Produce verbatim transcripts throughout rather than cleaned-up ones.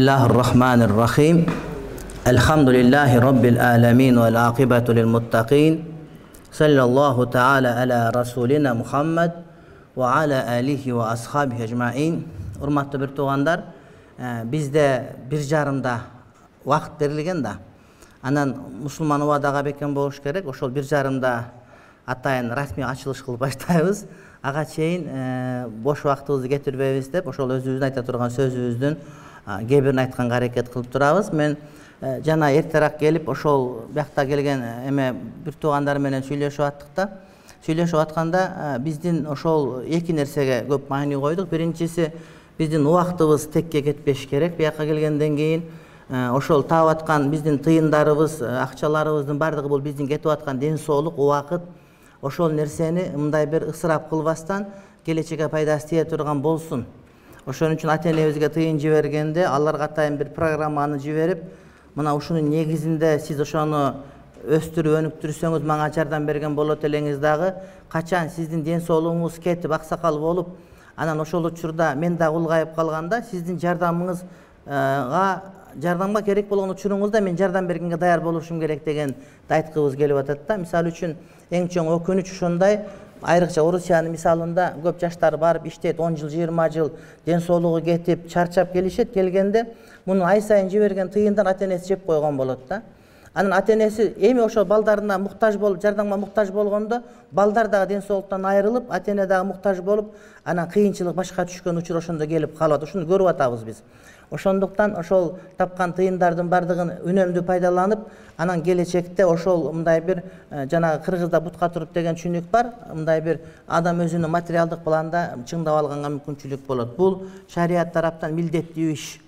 Bismillahirrahmanirrahim. Elhamdülillahi Rabbil alemin ve l'aqibatu lil muttaqin. Sallallahu ta'ala ala rasulina Muhammed ve ala alihi ve ashabihi ecmain. Urmatlı bir tuğandar, bizde bir jarımda vaqt berilgen da. Anan musulman ubadaga beken болуш керек. Ошол bir жарымда атайын расмий ачылыш кылып баштайбыз. Ага чейин бош вактыбызды кетирбейбиз деп, ошол өзүбүздүн айта турган сөзүбүздүн кээ бирин айтканга аракет кылып турабыз. Мен жана эртерээк келип, ошол биякта келген эме бир туугандар менен сүйлөшүп аттык да. Сүйлөшүп атканда биздин ошол эки нерсеге көп маани койдук. Биринчиси, биздин убактыбыз текке кетпеш керек. Биякка келгенден кийин ошол таап аткан биздин тыйындарыбыз, акчаларыбыздын бардыгы бул биздин кетип аткан ден соолук, убакыт. Ошол нерсени мындай бир ысырап кылбастан келечекке пайдасы тие турган болсун. Ошон үчүн ата-энебизге тыйын жибергенде аларга атайын бир программаны жиберип, мына ушунун негизинде сиз ошону өстүрүп өнүктүрсөңүз мага жардам берген болот элеңиз дагы, качан сиздин ден соолугуңуз кетип аксакал болуп, анан ошол учурда мен дагы улгайып калганда сиздин жардамыңызга жардамга керек болгон учуруңузда мен жардам бергенге даяр болушум керек дегенди айткыбыз келип атат да. Мисалы үчүн эң чоң өкүнүч ушундай. Айрыкча Орусиянын мисалында көп жаштар барып иштейт, он жыл, жыйырма жыл ден соолугу кетип, чарчап келишет. Келгенде муну ай сайын жиберген тыйындан ата-энеси жеп койгон болот да. Анан ата-энеси эми ошол балдарына муктаж болуп, жардамга муктаж болгондо, балдар дагы ден соолуктан айрылып, ата-эне дагы муктаж болуп, анан кыйынчылык башка түшкөн учур ошондо келип калат. Ушуну көрүп атабыз биз. Ошондуктан ошол тапкан тыйындардын бардыгын үнөмдүү пайдаланып, анан келечекте ошол мындай бир жана кыргызда бутка туруп деген түшүнүк бар. Мындай бир адам өзүнүн материалдык планда чыңдап алганга мүмкүнчүлүк болот. Бул шарият тараптан милдеттүү иш,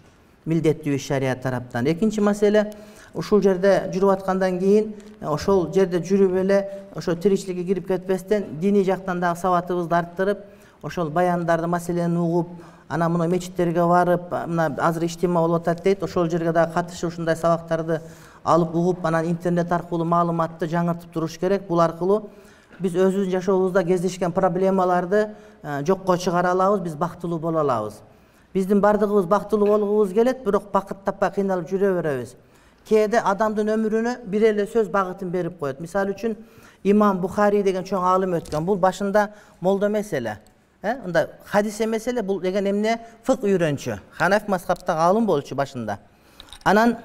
милдеттүү иш шарият тараптан. Экинчи маселе, ушул жерде жүрүп аткандан кийин, ошол жерде жүрүп эле ошо тиричиликке кирип кетпестен диний жактан дагы сабатыбызды арттырып, ошол баяндарды, маселени угуп, анан мына мечиттерге барып, мына азыр иштима болуп атат дейт, ошол жерге дагы катышып ушундай сабактарды алып угуп, анан интернет аркылуу маалыматты жаңыртып туруш керек. Бул аркылуу биз өзүбүздүн жашообузда кездешкен проблемаларды жокко чыгара алабыз, биз бактылуу боло алабыз. Биздин бардыгыбыз бактылуу болгубуз келет, бирок бакыт таппай кыйналып жүрө беребиз. Кээде адамдын өмүрүнө бир эле сөз багытын берип коет. Мисалы үчүн Имам Бухари деген чоң алым өткөн. Бул башында молдо эмес эле. Ында хадис эмес эле, бул деген эмне? Фык үйрөнчү. Ханафи мазхабтагы алым болчу башында. Анан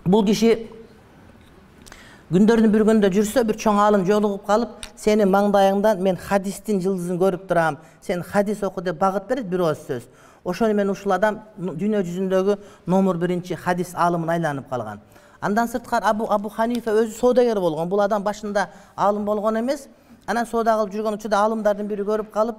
бул киши күндөрдүн бир күндө жүрсө, бир чоң алым жолугуп калып, сенин маңдайыңдан мен хадистин жылдызын көрүп турам, сен хадис оку деп багыт берет, бир ооз сөз. Ошону мен ушул адам дүйнө жүзүндөгү номер биринчи хадис алымына айланып калган. Андан сырткары Абу Абу Ханифа өзү соодагер болгон. Бул адам башында алым болгон эмес. Анан соода кылып жүргөн учурда алымдардын бири көрүп калып,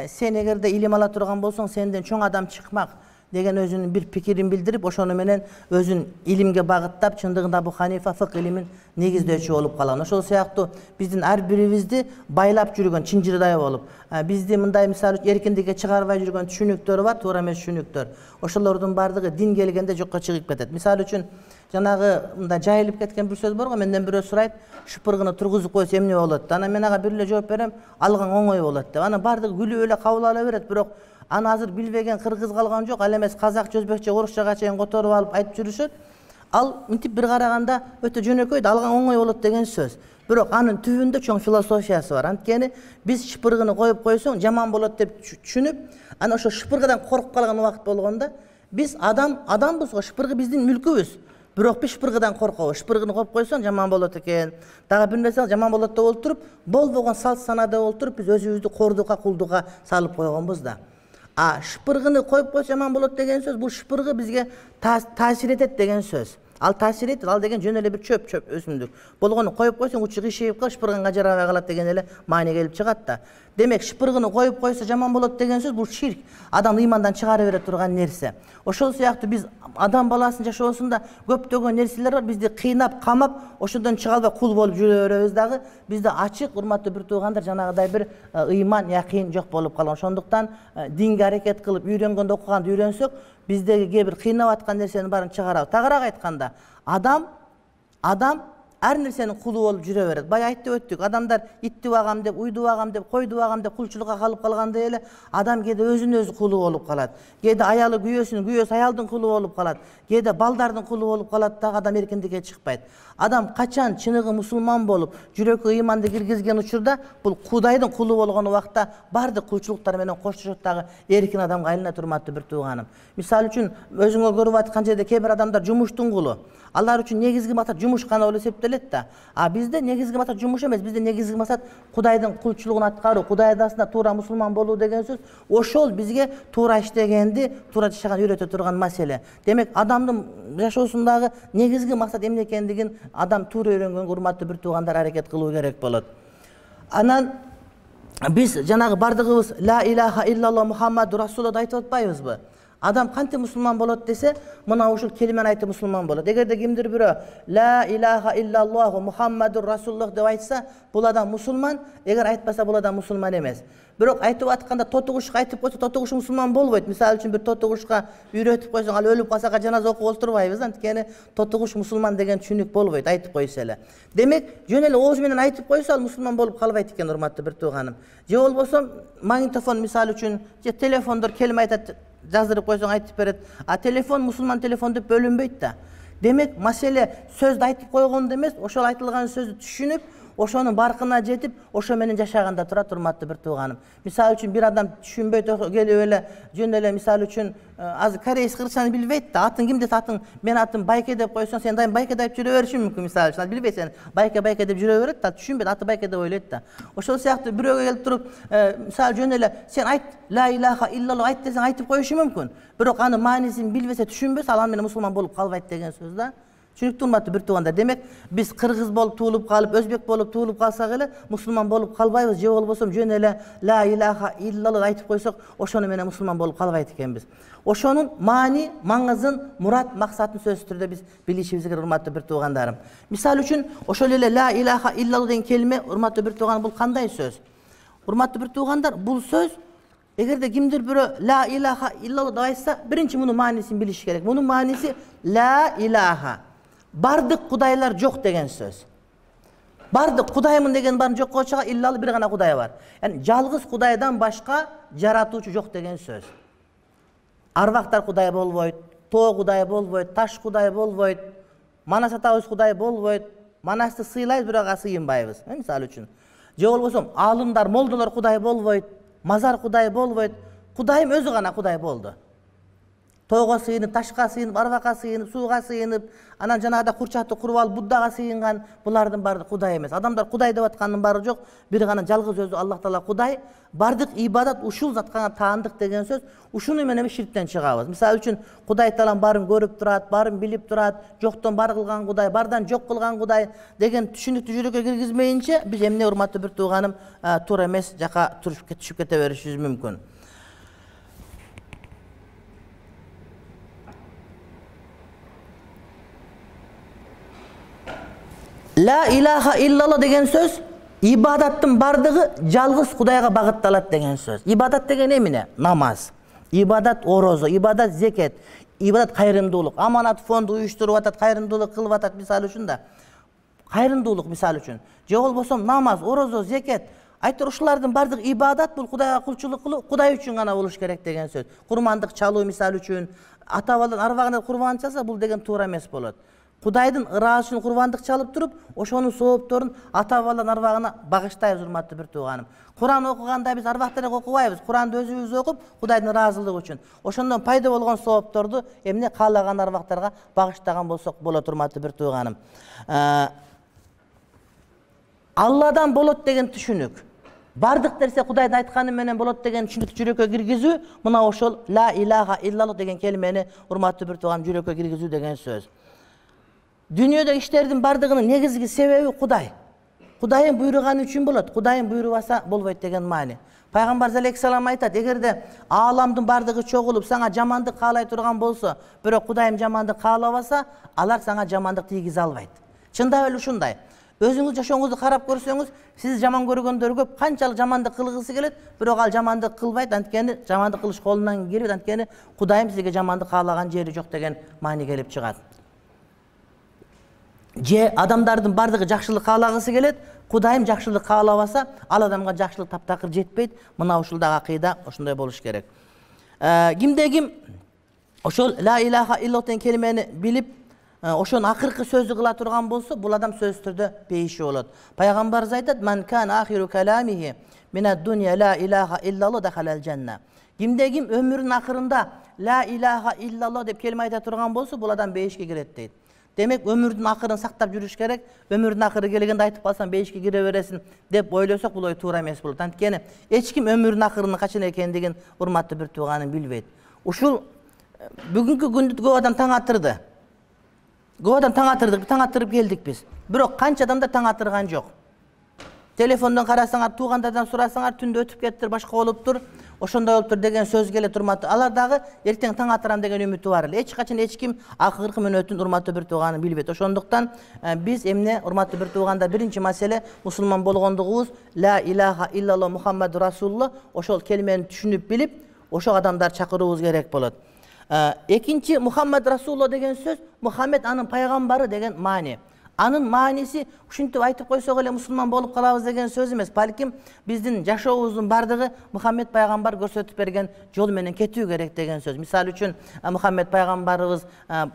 сен эгерде илим ала турган болсоң, сенден чоң адам чыкмак деген өзүнүн бир пикирин билдирип, ошону менен өзүн илимге багыттап, чындыгында Абу Ханифа фык илимин негиздөөчү болуп калган. Ошол сыяктуу биздин ар бирибизди байлап жүргөн чынжырдай болуп, бизди мындай мисалы эркиндикке чыгарбай жүргөн түшүнүктөр бар, туура эмес түшүнүктөр. Ошолордун бардыгы дин келгенде жокко чыгып кетет. Мисалы үчүн жанагы мындай жайылып кеткен бир сөз бар го, менден бирөө сурайт, шыпыргыны тургузуп койсо эмне болот? Анан мен ага бир эле жооп берем, алган оңой болот деп. Анан бардыгы күлүп эле кабыл ала берет, бирок аны азыр билбеген кыргыз калган жок, ал эмес казакча, өзбекче, орусчага чейин которуп алып айтып жүрүшөт. Ал мынтип бир караганда өтө жөнөкөй, алган оңой болот деген сөз. Бирок анын түбүндө чоң философиясы бар. Анткени биз шыпыргыны коюп койсоң жаман болот деп түшүнүп, анан ошо шыпыргыдан коркуп калган убакыт болгондо, биз адам адамбыз го, шыпыргы биздин мүлкүбүз. Бирок биз шыпыргыдан коркобуз. Шыпыргыны коюп койсоң жаман болот экен. Дагы бир нерсе жаман болот деп олтуруп, болбогон салт санада олтуруп, биз өзүбүздү кордукка, кулдукка салып койгонбуз да. А шыпыргыны коюп койсо жаман болот деген сөз, бул шыпыргы бизге таасир этет деген сөз. Ал таасир этет, ал деген жөн эле бир чөп, чөп өсүмдүк. Болгону коюп койсоң учу кышыйып калып, шыпырганга жарабай калат деген эле маани келип чыгат да. Демек, шыпыргыны коюп койсо жаман болот деген сөз, бул ширк. Адам ыймандан чыгара бере турган нерсе. Ошол сыяктуу биз адам баласынын жашоосунда көптөгөн нерселер бар, бизди кыйнап, камап, ошондон чыга албай кул болуп жүрө беребиз дагы. Бизде ачык, урматтуу бир туугандар, жанагыдай бир ыйман, якин жок болуп калган. Ошондуктан динге аракет кылып, үйрөнгөндө окуганды үйрөнсөк, биздеги кээ бир кыйнап аткан нерсенин баарын чыгарабыз. Тагыраак айтканда, адам адам ар нерсенин кулу болуп жүрө берет. Бая айтып өттүк, адамдар итти багам деп, уйду багам деп, койду багам деп кулчулукка калып калгандай эле адам кээде өзүнүн өзү кулу болуп калат. Кээде аялы күйөөсүнүн, күйөөсү аялдын кулу болуп калат. Кээде балдардын кулу болуп калат да адам эркиндикке чыкпайт. Адам качан чыныгы мусулман болуп, жүрөккө ыйманды киргизген учурда бул Кудайдын кулу болгон убакта бардык кулчулуктар менен коштошот дагы эркин адамга айлана турматтуу бир тууганым. Мисалы үчүн өзүңөр көрүп аткан жерде кээ бир адамдар жумуштун кулу. Алар үчүн негизги максат жумуш гана болуп эсептелет да. А бизде негизги максат жумуш эмес, бизде негизги максат Кудайдын кулчулугун аткаруу, Кудай даасында туура мусулман болуу деген сөз. Ошол бизге туура иштегенди, туура жашаганды үйрөтө турган маселе. Демек, адамдын жашоосундагы негизги максат эмне экендигин адам туура үйрөнгөнгө урматтуу бир туугандар аракет кылуу керек болот. Анан биз жанагы бардыгыбыз ла илаха иллаллах Мухаммаду Расулуллахты айтып атпайбызбы? Адам кантип мусулман болот десе, мына ушул келимени айтып мусулман болот. Эгерде кимдир бирөө ла илаха иллаллаху Мухаммаду Расулуллах деп айтса, бул адам мусулман, эгер айтпаса бул адам мусулман эмес. Бирок айтып атканда тотугушка айтып койсо, тотугуш мусулман болбойт. Мисалы үчүн бир тотугушка үйрөтүп койсоң, ал өлүп калса жаназа окуп олтурбайбыз, анткени тотугуш мусулман деген түшүнүк болбойт, айтып койсо эле. Демек, жөн эле ооз менен айтып койсо, ал мусулман болуп калбайт экен, урматтуу бир тууганым. Же болбосо магнитофон мисалы үчүн, же телефондор келиме айтат, жаздырып койсоң айтып берет. А телефон мусулман телефон деп бөлүнбөйт да. Демек, маселе сөздү айтып койгондо эмес, ошол айтылган сөздү түшүнүп, ошонун баркына жетип, ошо менен жашаганда турат, урматтуу бир тууганым. Мисалы үчүн бир адам түшүнбөй келип эле, жөн эле мисалы үчүн азыр корейс кыргызчаны билбейт да. Атын ким десе, атын мен атым Байке деп койсоң, сен дайым Байке деп жүрө беришиң мүмкүн, мисалы үчүн. Ал билбейт, сен Байке Байке деп жүрө берет да, түшүнбөйт, аты Байке деп ойлойт да. Ошол сыяктуу бирөөгө келип туруп, мисалы жөн эле сен айт ла илаха иллаллах айт десең айтып коюшу мүмкүн. Бирок анын маанисин билбесе, түшүнбөсө, ал менен мусулман болуп калбайт деген сөз да. Түшүнүктүү урматтуу бир туугандар. Демек, биз кыргыз болуп туулуп калып, өзбек болуп туулуп калсак эле мусулман болуп калбайбыз. Же болбосо жөн эле ла илаха иллаллах айтып койсок, ошону менен мусулман болуп калбайт экенбиз. Ошонун маани, маңызын, мурат, максатын сөзсүз түрдө биз билишибиз керек, урматтуу бир туугандарым. Мисалы үчүн, ошол эле ла илаха иллаллах деген келиме, урматтуу бир тууганым, бул кандай сөз? Урматтуу бир туугандар, бул сөз эгерде кимдир бирөө ла илаха иллаллах деп айтса, биринчи мунун маанисин билиш керек. Мунун мааниси ла илаха, бардык кудайлар жок деген сөз. Бардык кудаймын деген барын жокко чыга, иллалы бир гана кудай бар. Яни жалгыз кудайдан башка жаратуучу жок деген сөз. Арбактар кудай болбойт, тоо кудай болбойт, таш кудай болбойт, манас атабыз кудай болбойт. Манасты сыйлайбыз, бирок ага сыйынбайбыз, мисалы үчүн. Же болбосо аалымдар, молдолор кудай болбойт, мазар кудай болбойт. Кудайым өзү гана кудай болду. Тоого сыйынып, ташка сыйынып, арбакка сыйынып, сууга сыйынып, анан жанагыда курчатты куруп алып Буддага сыйынган, булардын баары кудай эмес. Адамдар кудай деп аткандын баары жок, бир гана жалгыз өзү Аллах Таала кудай. Бардык ибадат ушул затка таандык деген сөз. Ушуну менен ширктен чыгабыз. Мисалы үчүн, Кудай Таалам баарын көрүп турат, баарын билип турат, жоктон бар кылган кудай, бардан жок кылган кудай деген түшүнүктү жүрөккө киргизмейинче, биз эмне, урматтуу бир тууганым, туура эмес жака түшүп кете беришибиз мүмкүн. Ла илаха иллаллах деген сөз ибадаттын бардыгы жалгыз Кудайга багытталат деген сөз. Ибадат деген эмне? Намаз, ибадат орозо, ибадат зекет, ибадат кайрымдуулук. Аманат фонду уюштуруп атат, кайрымдуулук кылып атат, мисалы үчүн да. Кайрымдуулук мисалы үчүн. Же болбосо намаз, орозо, зекет. Айтор ушулардын бардык ибадат бул Кудайга кулчулук кылуу, Кудай үчүн гана болуш керек деген сөз. Курмандык чалуу мисалы үчүн, ата-бабалар арбагына курбан чалса, бул деген туура эмес болот. Кудайдын ыраазы үчүн курбандык чалып туруп, ошонун соопторун ата-бабалардын арбагына багыштайбыз, урматтуу бир тууганым. Куран окуганда биз арбактарга окубайбыз. Куранды өзүбүз окуп, Кудайдын ыраазылыгы үчүн. Ошондон пайда болгон соопторду эмне каалаган арбактарга багыштаган болсок болот, урматтуу бир тууганым. Алладан болот деген түшүнүк. Бардык нерсе Кудайдын айтканы менен болот деген түшүнүктү жүрөккө киргизүү, мына ошол ла илаха иллаллах деген келимени, урматтуу бир тууганым, жүрөккө киргизүү деген сөз. Дүйнөдө иштердин бардыгынын негизги себеби Кудай. Кудайым буйруганы үчүн болот, Кудайым буйрубаса болбойт деген маани. Пайгамбар алейхиссалам айтат, эгерде ааламдын бардыгы чогулуп сага жамандык каалай турган болсо, бирок Кудайым жамандык каалабаса, алар сага жамандык тийгизе албайт. Чындап эле ушундай. Өзүңүз жашооңузду карап көрсөңүз, сиз жаман көргөндөр көп, канчалык жамандык кылгысы келет, бирок ал жамандык кылбайт, анткени жамандык кылыш колунан келбейт, анткени Кудайым сизге жамандык каалаган жери жок деген маани келип чыгат. же адамдардын бардыгы жакшылык каалагысы келет, Кудайым жакшылык каалабаса, ал адамга жакшылык таптакыр жетпейт. Мына ушул да акыйда ошондой болуш керек. Кимде ким ошол ла илаха иллаллах деген келмени билип, ошонун акыркы сөзү кыла турган болсо, бул адам сөзсүз түрдө пейиши болот. Пайгамбарыбыз айтат: "Ман кан ахиру каламихи минад дунья ла илаха иллаллах дахалал жанна." Кимде ким өмүрүнүн акырында ла илаха иллаллах деп келме айта турган болсо, бул адам бейишке кирет дейт. Демек, өмүрдүн акырын сактап жүрүш керек. Өмүрдүн акыры келгенде айтып калсаң бейишке кире бересиң деп ойлосок, бул ой туура эмес болот. Анткени эч ким өмүрүнүн акырынын качан экендигин урматтуу бир тууганым билбейт. Ушул бүгүнкү күндү көп адам таң атырды. Көп адам таң атырдык, таң атырып келдик биз. Бирок канча адамдар таң атырган жок. Телефондон карасаңар, туугандардан сурасаңар, түндө өтүп кеттир, башка болуптур, ошондой болуптур деген сөз келет урматтуу. Алар дагы эртең таң атырам деген үмүтү бар эле. Эч качан эч ким акыркы мүнөтүн урматтуу бир тууганы билбейт. Ошондуктан биз эмне урматтуу бир тууганда биринчи маселе мусулман болгондугубуз, ла илаха иллаллах Мухаммаду расулуллах, ошол келмени түшүнүп билип, ошол адамдар чакыруубуз керек болот. Экинчи, Мухаммад расулуллах деген сөз, Мухаммед анын пайгамбары деген маани. Анын мааниси ушинтип айтып койсок эле мусулман болуп калабыз деген сөз эмес. Балким биздин жашообуздун бардыгы Мухаммед пайгамбар көрсөтүп берген жол менен кетүү керек деген сөз. Мисалы үчүн Мухаммед пайгамбарыбыз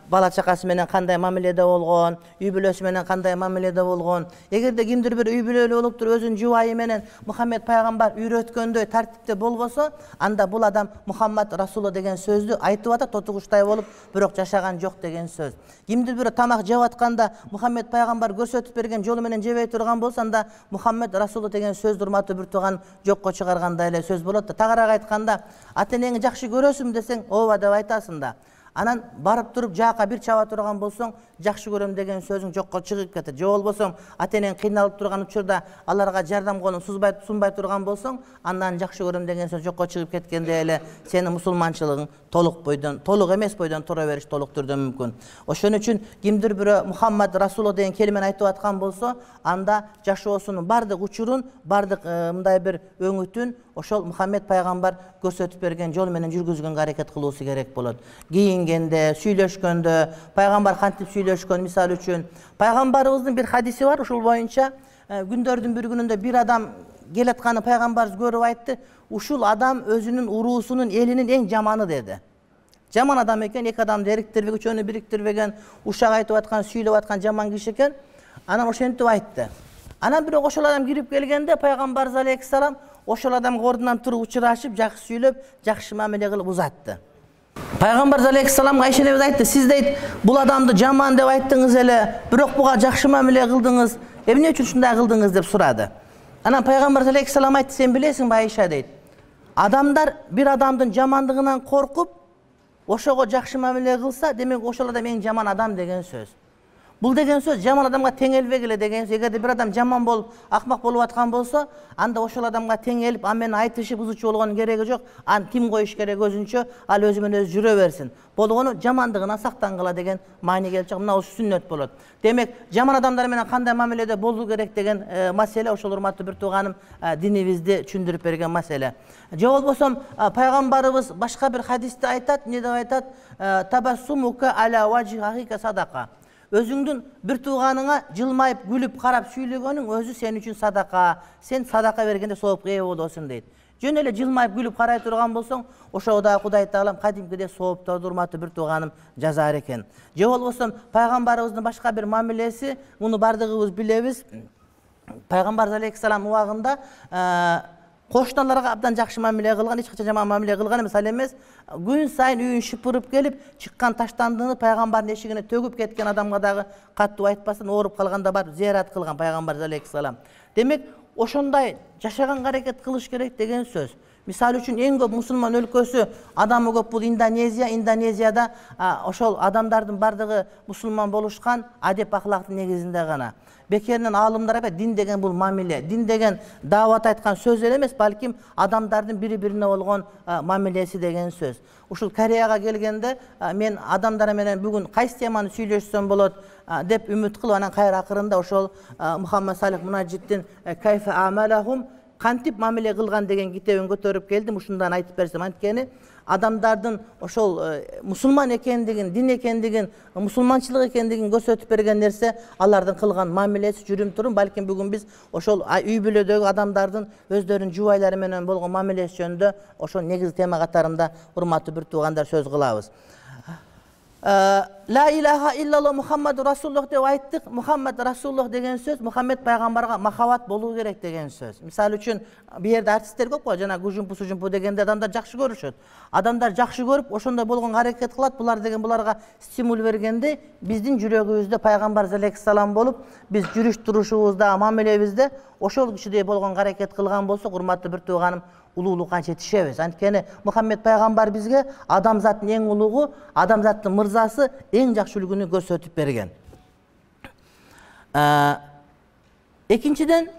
бала чакасы менен кандай мамиледе болгон, үй бүлөсү менен кандай мамиледе болгон. Эгерде кимдир бир үй бүлөлүү болуптур, өзүнүн жубайы менен Мухаммед пайгамбар үйрөткөндөй тартипте болбосо, анда бул адам Мухаммад расулуллах деген сөздү айтып атат, тотугучтай болуп, бирок жашаган жок деген сөз. Кимдир бир тамак жеп атканда Мухаммед пайгамбар көрсөтүп берген жолу менен жебей турган болсо, анда Мухаммед расулуллах деген сөз урматтуу бир тууган жокко чыгаргандай эле сөз болот да. Тагыраак айтканда, ата-энеңи жакшы көрөсүңбү десең, ооба деп айтасың да. Анан барып туруп жаакка бир чаба турган болсоң, жакшы көрөм деген сөзүң жокко чыгып кетет. Же болбосо ата-энең кыйналып турган учурда аларга жардам колун сузбай сунбай турган болсоң, андан жакшы көрөм деген сөз жокко чыгып кеткенде эле сенин мусулманчылыгың толук бойдон, толук эмес бойдон тура бериш толук түрдө мүмкүн. Ошон үчүн кимдир бирөө Мухаммад расулуллах деген келмени айтып аткан болсо, анда жашоосунун бардык учурун, бардык мындай бир өңүтүн ошол Мухаммед пайгамбар көрсөтүп берген жол менен жүргүзгөнгө аракет кылуусу керек болот. Кийингенде, сүйлөшкөндө, пайгамбар кантип сүйлөшкөн, мисалы үчүн пайгамбарыбыздын бир хадиси бар, ушул боюнча күндөрдүн бир күнүндө бир адам келатканы пайгамбарыбыз көрүп айтты, ушул адам өзүнүн уруусунун, элинин эң жаманы деди. Жаман адам экен, эки адамды эриктирбеген, үчөөнү бириктирбеген, ушак айтып аткан, сүйлөп аткан жаман киши экен. Анан ошентип айтты. Анан бирок ошол адам кирип келгенде пайгамбарыбыз алейхиссалам ошол адамга ордунан туруп учурашып, жакшы сүйлөп, жакшы мамиле кылып узатты. Пайгамбарыбыз алейхиссаламга Айша энебиз айтты, сиз дейт, бул адамды жаман деп айттыңыз эле, бирок буга жакшы мамиле кылдыңыз. Эмне үчүн ушундай кылдыңыз деп сурады. Анан пайгамбарыбыз алейхиссалам айтты, сен билесиңби Айша дейт, адамдар бир адамдын жамандыгынан коркуп, ошого жакшы мамиле кылса, демек ошол адам эң жаман адам деген сөз. Бул деген сөз жаман адамга теңелбегиле деген сөз. Эгерде бир адам жаман болуп, акмак болуп аткан болсо, анда ошол адамга теңелип, ан менен айтышып, узучу болгонун кереги жок. Аны тим коюш керек өзүнчө, ал өзү менен өзү жүрө берсин. Болгону жамандыгынан сактангыла деген маани келип чыгат. Мына ушул сүннөт болот. Демек, жаман адамдар менен кандай мамиледе болуу керек деген маселе ошол урматтуу бир тууганым динибизди түшүндүрүп берген маселе. Же болбосо пайгамбарыбыз башка бир хадисте айтат, эмне деп айтат? Табассумука ала важхика садака. Өзүңдүн бир тууганыңа жылмайып, күлүп, карап сүйлөгөнүң өзү сен үчүн садака. Сен садака бергенде соопка ээ болосуң дейт. Жөн эле жылмайып, күлүп карай турган болсоң, ошого да Кудай Таалам кадимкидей соопторду урматтуу бир тууганым жазаар экен. Же болбосо пайгамбарыбыздын башка бир мамилеси, муну бардыгыбыз билебиз. Пайгамбарыбыз алейхиссалам убагында кошуналарга абдан жакшы мамиле кылган, эч качан жаман мамиле кылган эмес. Ал эмес, күн сайын үйүн шыпырып келип, чыккан таштандыны пайгамбардын эшигине төгүп кеткен адамга дагы каттуу айтпастан ооруп калганда барып зыярат кылган пайгамбарыбыз алейхиссалам. Демек, ошондой жашаганга аракет кылыш керек деген сөз. Мисалы үчүн эң көп мусулман өлкөсү адамы көп бул Индонезия. Индонезияда ошол адамдардын бардыгы мусулман болушкан, адеп ахлактын негизинде гана. Бекеринен аалымдар айтат, дин деген бул мамиле. Дин деген даават айткан сөз эле эмес, балким адамдардын бири-бирине болгон мамилеси деген сөз. Ушул Кореяга келгенде мен адамдар менен бүгүн кайсы теманы сүйлөшсөм болот деп үмүт кылып, анан кайра акырында ошол Мухаммад Салих Мунаджиддин Кайфа амалахум, кантип мамиле кылган деген китебин көтөрүп келдим. Ушундан айтып берсем, анткени адамдардын ошол мусулман экендигин, дин экендигин, мусулманчылык экендигин көрсөтүп берген нерсе алардын кылган мамилеси, жүрүм турум. Балким бүгүн биз ошол үй бүлөдөгү адамдардын өздөрүнүн жубайлары менен болгон мамилеси жөнүндө ошол негизги тема катарында урматтуу бир туугандар сөз кылабыз. Ла илаха иллаллах Мухаммаду Расулуллах деп айттык. Мухаммад Расулуллах деген сөз Мухаммед пайгамбарга махабат болуу керек деген сөз. Мисалы үчүн бу жерде артисттер көп го, жана гужумпу сужумпу дегенде адамдар жакшы көрүшөт. Адамдар жакшы көрүп, ошондой болгонго аракет кылат. Булар деген буларга стимул бергенде биздин жүрөгүбүздө пайгамбар алейхиссалам болуп, биз жүрүш турушубузда, мамилебизде ошол кишидей болгонго аракет кылган болсок, урматтуу бир тууганым, улуулукка жетишебиз. Анткени Мухаммед пайгамбар бизге адамзаттын эң улугу, адамзаттын мырзасы, эң жакшы үлгүнү көрсөтүп берген. Экинчиден,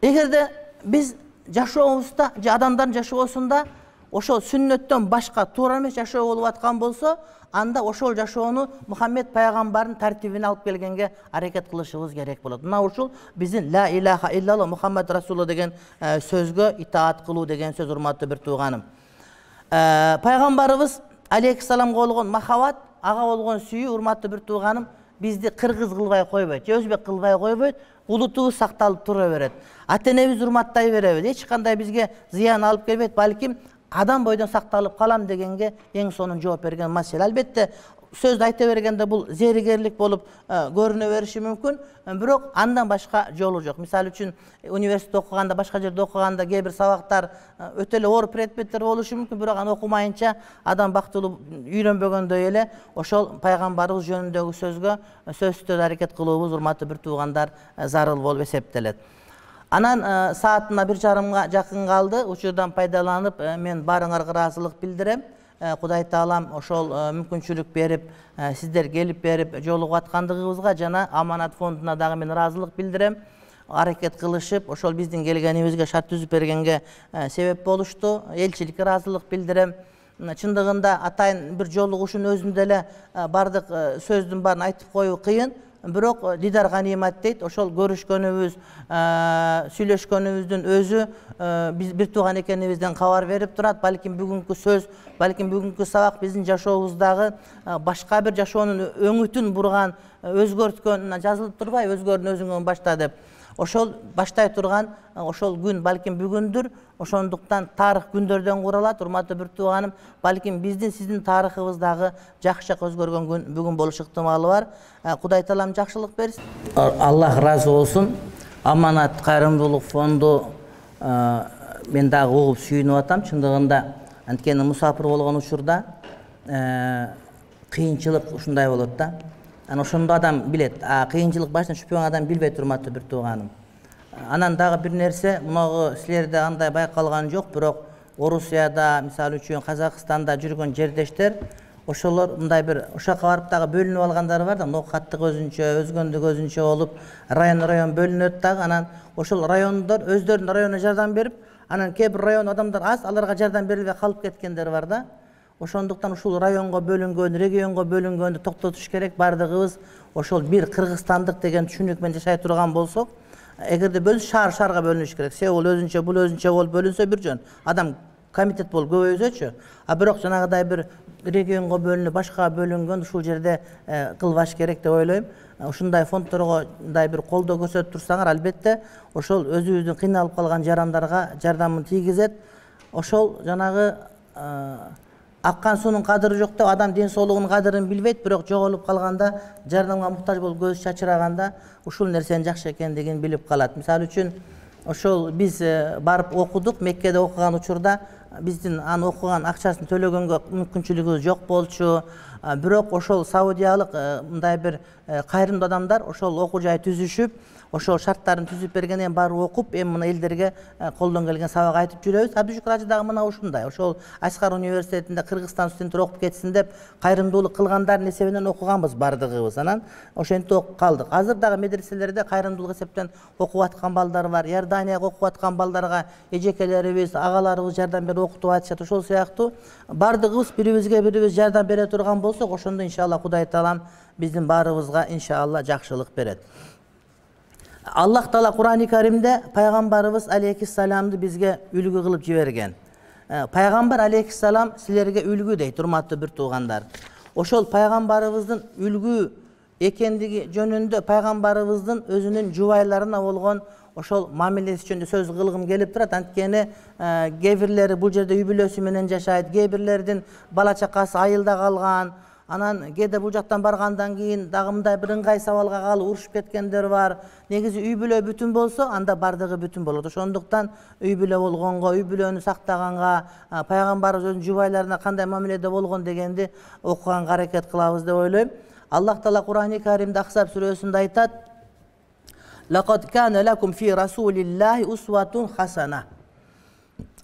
эгерде биз жашообузда, адамдардын жашоосунда ошол сүннөттөн башка туура эмес жашоо болуп аткан болсо, анда ошол жашоону Мухаммед пайгамбардын тартибине алып келгенге аракет кылышыбыз керек болот. Мына ушул биздин ла илаха иллаллах Мухаммад Расулуллах деген сөзгө итаат кылуу деген сөз, урматтуу бир тууганым. Пайгамбарыбыз алейхиссаламга болгон махабат, ага болгон сүйүү, урматтуу бир тууганым, бизди кыргыз кылбай койбойт, же өзбек кылбай койбойт, улутубуз сакталып тура берет. Ата-энебизди урматтай беребиз. Эч кандай бизге зыян алып келбейт, балким адам бойдон сакталып калам дегенге эң сонун жооп берген маселе. Албетте сөздү айта бергенде бул зеригерлик болуп көрүнө бериши мүмкүн, бирок андан башка жолу жок. Мисалы үчүн университетте окуганда, башка жерде окуганда кээ бир сабактар өтө эле оор предметтер болушу мүмкүн, бирок аны окумайынча адам бактылуу үйрөнбөгөндөй эле ошол пайгамбарыбыз жөнүндөгү сөзгө сөзсүз аракет кылуубуз, урматтуу бир туугандар, зарыл болуп эсептелет. Анан саатына бир жарымга жакын калды. Учурдан пайдаланып мен баарыңарга ыраазылык билдирем. Кудай таалам ошол мүмкүнчүлүк берип, сиздер келип берип жолугуп аткандыгыбызга жана Аманат фондуна дагы мен ыраазылык билдирем. Аракет кылышып, ошол биздин келгенибизге шарт түзүп бергенге себеп болушту. Элчиликке ыраазылык билдирем. Чындыгында атайын бир жолугушун өзүндө эле бардык сөздүн баарын айтып коюу кыйын. Бирок дидар ганимат дейт. Ошол көрүшкөнүбүз, сүйлөшкөнүбүздүн өзү биз бир тууган экенибизден кабар берип турат. Балким бүгүнкү сөз, балким бүгүнкү сабак биздин жашообуздагы башка бир жашоонун өңүтүн бурган, өзгөрткөн, жазылып турбайбы, өзгөрдүн өзүңөн башта деп. Ошол баштай турган ошол күн балким бүгүндүр. Ошондуктан тарых күндөрдөн куралат. Урматтуу бир тууганым, балким биздин сиздин тарыхыбыздагы жакшы өзгөргөн күн бүгүн болуш ыктымалы бар. Кудай таалам жакшылык берсин. Аллах ыраазы болсун. Аманат кайрымдуулук фонду мен дагы угуп сүйүнүп атам. Чындыгында анткени мусафир болгон учурда кыйынчылык ушундай болот да. Анан ошондо адам билет. А кыйынчылык башынан түшпөгөн адам билбейт, урматтуу бир тууганым. Анан дагы бир нерсе, мунагы силерде андай байкалган жок, бирок Орусияда, мисалы үчүн Казакстанда жүргөн жердештер, ошолор мындай бир ошакка барып дагы бөлүнүп алгандар бар да, ноокаттык өзүнчө, өзгөндүк өзүнчө болуп, район-район бөлүнөт дагы. Анан ошол райондор өздөрүнүн районуна жардам берип, анан кээ бир район адамдар аз, аларга жардам берилбей калып кеткендер бар да. Ошондуктан ушул районго бөлүнгөн, регионго бөлүнгөндү токтотуш керек. Бардыгыбыз ошол бир кыргызстандык деген түшүнүк менен жашай турган болсок, эгерде бөлүнүш, шаар шаарга бөлүнүш керек. Сеул өзүнчө, бул өзүнчө болуп бөлүнсө бир жөн. Адам комитет болуп көбөйсөчү. А бирок жанагыдай бир регионго бөлүнүп, башкага бөлүнгөн ушул жерде кылбаш керек деп ойлойм. Ушундай фондторго мындай бир колдоо көрсөтүп турсаңар, албетте ошол өзүбүздүн кыйналып калган жарандарга жардамын тийгизет. Ошол жанагы аккан суунун кадыры жок деп адам ден соолугунун кадырын билбейт, бирок жоголуп калганда, жардамга муктаж болуп көз чачыраганда ушул нерсенин жакшы экендигин билип калат. Мисалы үчүн ошол биз барып окудук, Меккеде окуган учурда биздин аны окуган акчасын төлөгөнгө мүмкүнчүлүгүбүз жок болчу. Бирок ошол саудиялык мындай бир кайрымдуу адамдар ошол окуу жай түзүшүп, ошол шарттарын түзүп бергенден барып окуп, эми мына элдерге колдон келген сабак айтып жүрөбүз. Абдушукур ажы дагы мына ушундай. Ошол Ашкар университетинде Кыргызстан студенттери окуп кетсин деп кайрымдуулук кылгандардын эсебинен окуганбыз бардыгыбыз. Анан ошентип окуп калдык. Азыр дагы медреселерде кайрымдуулук эсептен окуп аткан балдар бар. Иорданияга окуп аткан балдарга эжекелерибиз, агаларыбыз жардам берип окутуп атышат. Ошол сыяктуу бардыгыбыз бири-бирибизге бири-бирибиз жардам бере турган болсок, ошондо иншалла Кудай таалам биздин баарыбызга иншалла жакшылык берет. Аллах Таала Кур'ан-ы Каримде пайгамбарыбыз алейхиссаламды бизге үлгү кылып жиберген. Пайгамбар алейхиссалам силерге үлгү дейт, урматтуу бир туугандар. Ошол пайгамбарыбыздын үлгү экендиги жөнүндө пайгамбарыбыздын өзүнүн жубайларына болгон ошол мамилеси жөнүндө сөз кылгым келип турат. Анткени кээ бирлери бул жерде үй бүлөсү менен жашайт, кээ бирлердин бала чакасы айылда калган, анан кээде бул жактан баргандан кийин дагы мындай бир ыңгай сабалга калып урушуп кеткендер бар. Негизи үй бүлө бүтүн болсо, анда бардыгы бүтүн болот. Ошондуктан үй бүлө болгонго, үй бүлөнү сактаганга, пайгамбарыбыз өзүнүн жубайларына кандай мамиледе болгон дегенди окуганга аракет кылабыз деп ойлойм. Аллах Таала Кур'ан-ы Каримде Ахзаб сүрөсүндө айтат: "Лакад кана лакум фи расулиллахи усватун хасана."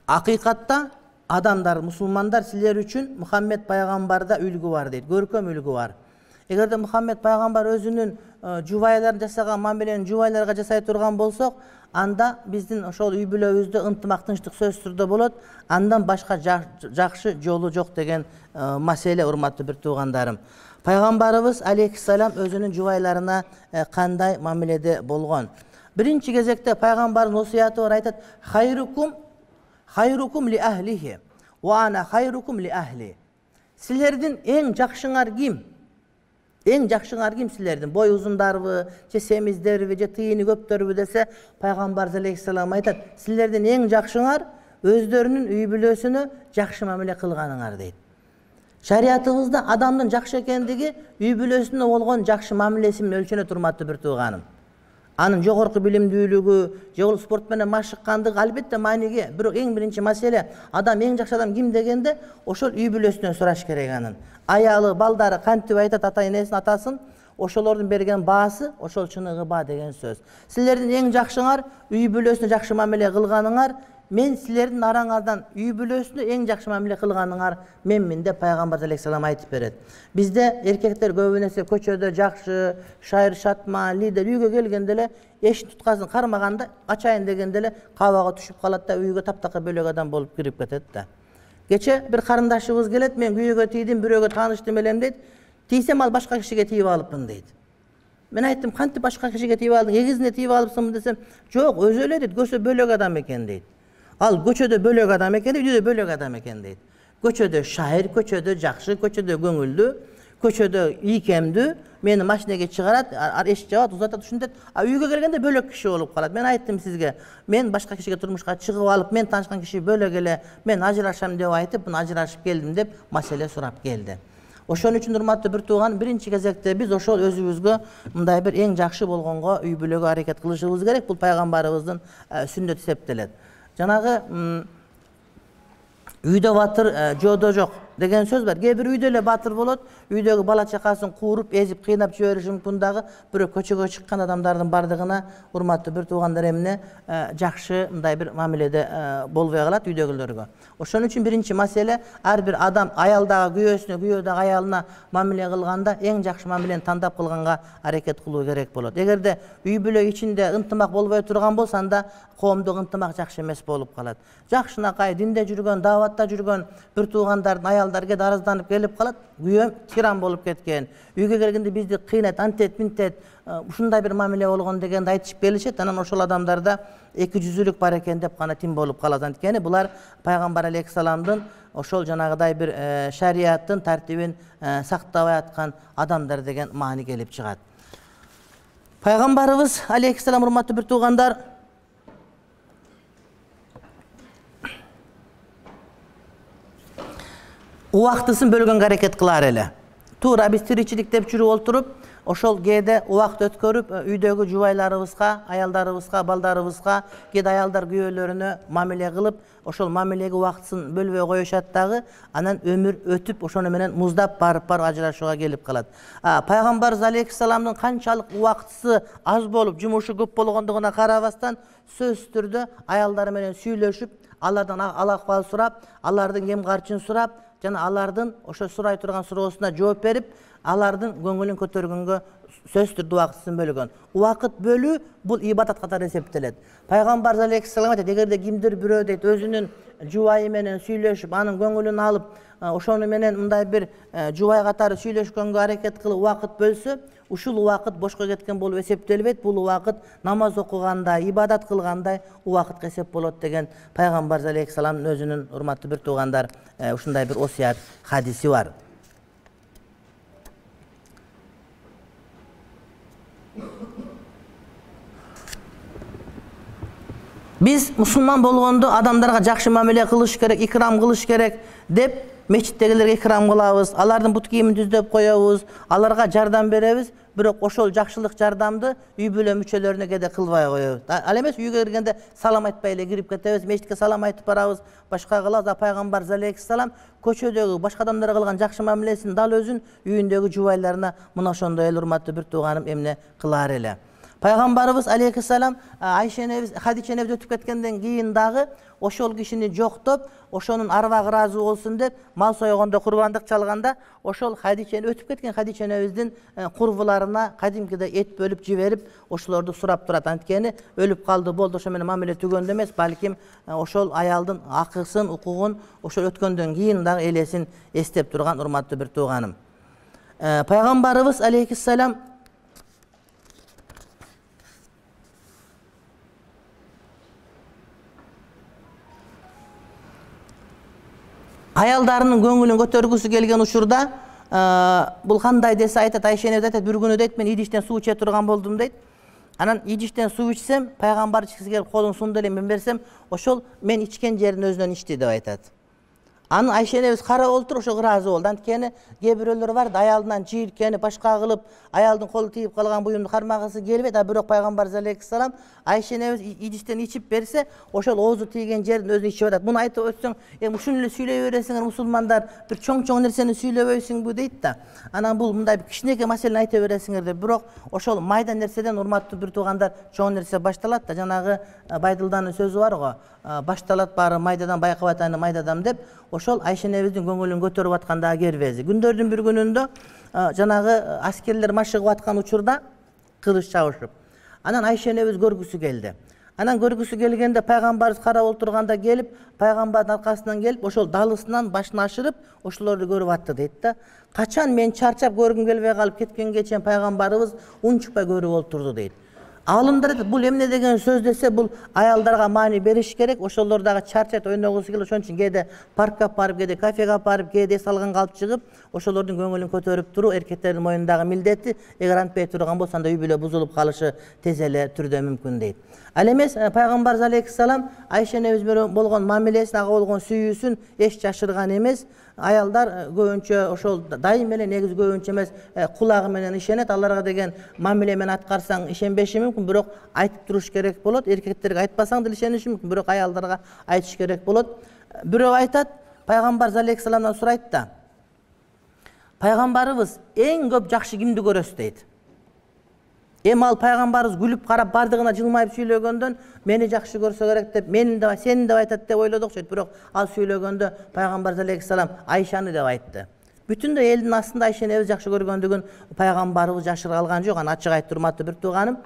Акыйкатта адамдар, мусулмандар силер үчүн Мухаммед пайгамбарда үлгү бар дейт, көркөм үлгү бар. Эгерде Мухаммед пайгамбар өзүнүн жубайларын жасаган мамилени жубайларга жасай турган болсок, анда биздин ошол үй бүлөбүздө ынтымак, тынчтык сөзсүз түрдө болот. Андан башка жакшы жолу жок деген маселе, урматтуу бир туугандарым. Пайгамбарыбыз алейхиссалам өзүнүн жубайларына кандай мамиледе болгон? Биринчи кезекте пайгамбардын осуяты бар, айтат: "Хайрукум хайрукум ли ахлихи ва ана хайрукум ли ахли." Силердин эң жакшыңар ким? Эң жакшыңар ким силердин? Бой узундарбы, же семиздерби, же тыйыны көптөрбү десе, пайгамбар алейхиссалам айтат: "Силердин эң жакшыңар өздөрүнүн үй бүлөсүнө жакшы мамиле кылганыңар" дейт. Шариятыбызда адамдын жакшы экендиги үй бүлөсүнө болгон жакшы мамилеси менен өлчөнөт, урматтуу бир тууганым. Анын жогорку билимдүүлүгү, же ол спорт менен машыккандыгы албетте мааниге, бирок эң биринчи маселе адам эң жакшы адам ким дегенде, ошол үй бүлөсүнөн сураш керек анын. Аялы, балдары кантип айтат ата энесин, атасын, ошолордун берген баасы ошол чыныгы баа деген сөз. Силердин эң жакшыңар үй бүлөсүнө жакшы мамиле кылганыңар, мен силердин араңардан үй бүлөсүнө эң жакшы мамиле кылганыңар менмин деп пайгамбар алейхиссалам айтып берет. Бизде эркектер көбү нерсе көчөдө жакшы, шайыр шатман, лидер, үйгө келгенде эле эшин туткасын кармаганда ачайын дегенде эле кабага түшүп калат да үйгө таптакыр бөлөк адам болуп кирип кетет да. Кече бир карындашыбыз келет: "Мен күйөөгө тийдим, бирөөгө тааныштым элем" дейт. "Тийсем ал башка кишиге тийип алыпмын" дейт. Мен айттым: "Кантип башка кишиге тийип алдың? Эгизине тийип алыпсыңбы?" десем, "Жок, өзү эле" дейт, "көсө бөлөк адам экен" дейт. Ал көчөдө бөлөк адам экен, үйдө бөлөк адам экен дейт. Көчөдө шайыр, көчөдө жакшы, көчөдө көңүлдүү, көчөдө ийкемдүү, мени машинеге чыгарат, эш жабат, узатат, ушинтет. А үйгө келгенде бөлөк киши болуп калат. Мен айттым сизге, мен башка кишиге турмушка чыгып алып, мен таанышкан киши бөлөк эле, мен ажырашам деп айтып, мына ажырашып келдим деп маселе сурап келди. Ошон үчүн урматтуу бир тууган, биринчи кезекте биз ошол өзүбүзгө мындай бир эң жакшы болгонго үй бүлөгө аракет кылышыбыз керек. Бул пайгамбарыбыздын сүннөтү эсептелет. Жанагы үйдө батыр, жоодо жок деген сөз бар. Кээ бир үйдө эле батыр болот, үйдөгү бала чакасын кууруп, эзип, кыйнап жибериши мүмкүн дагы, бирок көчөгө чыккан адамдардын бардыгына, урматтуу бир туугандар, эмне жакшы мындай бир мамиледе болбой калат үйдөгүлөргө. Ошон үчүн биринчи маселе, ар бир адам аялдагы күйөөсүнө, күйөө дагы аялына мамиле кылганда эң жакшы мамилени тандап кылганга аракет кылуу керек болот. Эгерде үй бүлө ичинде ынтымак болбой турган болсо, анда коомдук ынтымак жакшы эмес болуп калат. Жакшынакай динде жүргөн, дааватта жүргөн бир туугандардын аялдар кээде арызданып келип калат: "Күйөөм тиран болуп кеткен, үйгө келгенде бизди кыйнайт, антет, минтет, ушундай бир мамиле болгон" дегенди айтышып келишет. Анан ошол адамдарда эки жүзүлүк бар экен деп гана тим болуп калат. Анткени булар пайгамбар алейхиссаламдын ошол жанагыдай бир шарияттын тартибин сактабай аткан адамдар деген маани келип чыгат. Пайгамбарыбыз алейхиссалам, урматтуу бир туугандар, убактысын бөлгөнгө аракет кылар эле. Туура биз тиричилик деп жүрүп олтуруп, ошол кээде убакыт өткөрүп, үйдөгү жубайларыбызга, аялдарыбызга, балдарыбызга, кээде аялдар күйөөлөрүнө мамиле кылып, ошол мамилеге убактысын бөлбөй коюшат дагы, анан өмүр өтүп, ошону менен муздап барып барып ажырашууга келип калат. Пайгамбарыбыз алейхиссаламдын канчалык убактысы аз болуп, жумушу көп болгондугуна карабастан, сөзсүз түрдө аялдары менен сүйлөшүп, алардан ал-акыбал сурап, алардын кем карчын сурап, жана алардын ошо сурай турган суроосуна жооп берип, алардын көңүлүн көтөргөнгө сөзсүз түрдө убакытын бөлгөн. Убакыт бөлүү бул ибадат катары эсептелет. Пайгамбар алейхиссалам айтат, эгерде кимдир бирөө дейт өзүнүн жубайы менен сүйлөшүп, анын көңүлүн алып, ошону менен мындай бир жубай катары сүйлөшкөнгө аракет кылып убакыт бөлсө, ушул убакыт бошко кеткен болуп эсептелбейт. Бул убакыт намаз окугандай, ибадат кылгандай убакытка эсеп болот деген Пайгамбар алейхиссаламдын өзүнүн урматтуу бир туугандар ушундай бир осуят хадиси бар. Биз мусулман болгондо адамдарга жакшы мамиле кылыш керек, икрам кылыш керек деп мечиттегилерге икрам кылабыз, алардын бут кийимин түздөп коебуз, аларга жардам беребиз, бирок ошол жакшылык жардамды үй бүлө мүчөлөрүнө кээде кылбай коебуз. Ал эмес үйгө киргенде салам айтпай эле кирип кетебиз, мечитке салам айтып барабыз, башка кылабыз. А Пайгамбар алейхиссалам көчөдөгү башка адамдарга кылган жакшы мамилесин дал өзүн үйүндөгү жубайларына мына ошондой эле урматтуу бир тууганым эмне кылар эле. Пайгамбарыбыз алейхиссалам Айша энебиз, Хадича энебиз өтүп кеткенден кийин дагы ошол кишини жоктоп, ошонун арбагы ыраазы болсун деп мал сойгондо, курбандык чалганда ошол Хадича өтүп кеткен Хадича энебиздин курбуларына кадимкидей эт бөлүп жиберип, ошолорду сурап турат. Анткени өлүп калды, болду, ошо менен мамиле түгөндө эмес, балким ошол аялдын акысын, укугун ошол өткөндөн кийин дагы элесин эстеп турган урматтуу бир тууганым. Пайгамбарыбыз алейхиссалам аялдарынын көңүлүн көтөргүсү келген учурда бул кандай десе айтат, Айша энебиз айтат, бир күнү дейт, мен идиштен суу иче турган болдум дейт. Анан идиштен суу ичсем, пайгамбар ичкиси келип колун сунду эле мен берсем, ошол мен ичкен жердин өзүнөн ичти деп айтат. Аны Айша энебиз карап отуруп ошо ыраазы болду. Анткени кээ бирөөлөр бар да, аялынан жийилкени башка кылып, аялдын колу тийип калган буюмду кармагысы келбейт. А бирок Пайгамбар алейхиссалам Айша энебиз идиштен ичип берсе, ошол оозу тийген жердин өзүн ичип атат. Муну айтып өтсөң, эми ушуну эле сүйлөй бересиңер мусулмандар, бир чоң-чоң нерсени сүйлөбөйсүңбү дейт да. Анан бул мындай кичинекей маселени айта бересиңер деп, бирок ошол майда нерседен урматтуу бир туугандар чоң нерсе башталат да. Жанагы Байдылданын сөзү бар го, башталат баары майдадан, байкап атаны майдадан деп. Ошол Айша энебиздин көңүлүн көтөрүп аткандагы кербези. Күндөрдүн бир күнүндө жанагы аскерлер машыгып аткан учурда кылыч чабышып. Анан Айша энебиз көргүсү келди. Анан көргүсү келгенде пайгамбарыбыз карап отурганда келип, пайгамбардын аркасынан келип, ошол далысынан башын ашырып, ошолорду көрүп атты дейт да. Качан мен чарчап көргүм келбей калып кеткенге чейин пайгамбарыбыз унчукпай көрүп отурду дейт. Алымдар айтат, бул эмне деген сөз десе, бул аялдарга маани бериш керек, ошолор дагы чарчат, ойногусу келип, ошон үчүн кээде паркка барып, кээде кафеге барып, кээде эс алган калып чыгып, ошолордун көңүлүн көтөрүп туруу эркектердин мойнундагы милдети, эгер антпай турган болсо анда үй бүлө бузулуп калышы тез эле түрдө мүмкүн дейт. Ал эмес Пайгамбар алейхиссалам Айша энебиз менен болгон мамилесин, ага болгон сүйүүсүн эч жашырган эмес. Аялдар көбүнчө ошол дайым эле, негизи көбүнчө эмес, кулагы менен ишенет. Аларга деген мамиле менен аткарсаң ишенбеши мүмкүн, бирок айтып туруш керек болот. Эркектерге айтпасаң да ишениши мүмкүн, бирок аялдарга айтыш керек болот. Бирөө айтат, Пайгамбар алейхиссаламдан сурайт да, пайгамбарыбыз эң көп жакшы кимди көрөсүз дейт. Эми ал пайгамбарыбыз күлүп карап, бардыгына жылмайып сүйлөгөндөн мени жакшы көрсө керек деп, мени деп, сени деп айтат деп ойлодук окшойт. Бирок ал сүйлөгөндө Пайгамбар алейхиссалам Айшаны деп айтты. Бүтүндөй элдин астында Айша энебиз жакшы көргөндүгүн пайгамбарыбыз жашыра алган жок. Аны ачык айтты, урматтуу бир тууганым.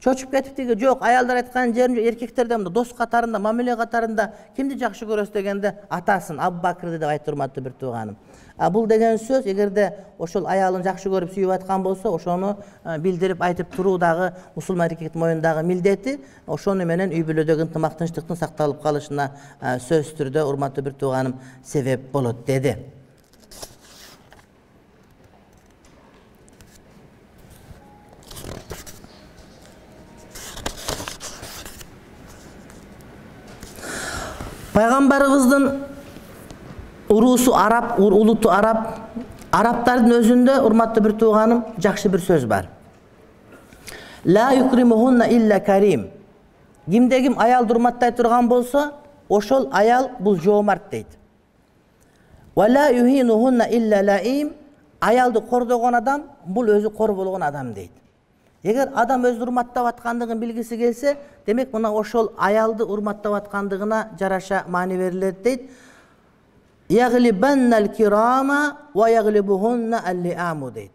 Чочуп кетиптиги жок, аялдар айткан жерин эркектерде мында дос катарында, мамиле катарында кимди жакшы көрөсүз дегенде атасын, Абу Бакырды деп айтты, урматтуу бир тууганым. А бул деген сөз, эгерде ошол аялын жакшы көрүп сүйүп аткан болсо, ошону билдирип айтып туруу дагы мусулман эркектин мойнундагы милдети, ошону менен үй бүлөдөгү ынтымак тынчтыктын сакталып калышына сөзсүз түрдө, урматтуу бир тууганым, себеп болот деди. Пайгамбарыбыздын уруусу араб, улуту араб, арабтардын өзүндө, урматтуу бир тууганым, жакшы бир сөз бар. Ла юкримухунна илля карим. Кимде ким аялды урматтай турган болсо, ошол аял бул жоомарт дейт. Ва ла юхинухунна илля лаим. Аялды кордогон адам бул өзү кор болгон адам дейт. Эгер адам өзү урматтап аткандыгын билгиси келсе, демек мына ошол аялды урматтап аткандыгына жараша маани берилет дейт. Яглибаннал кирама ва яглибухунна аллиаму дейт.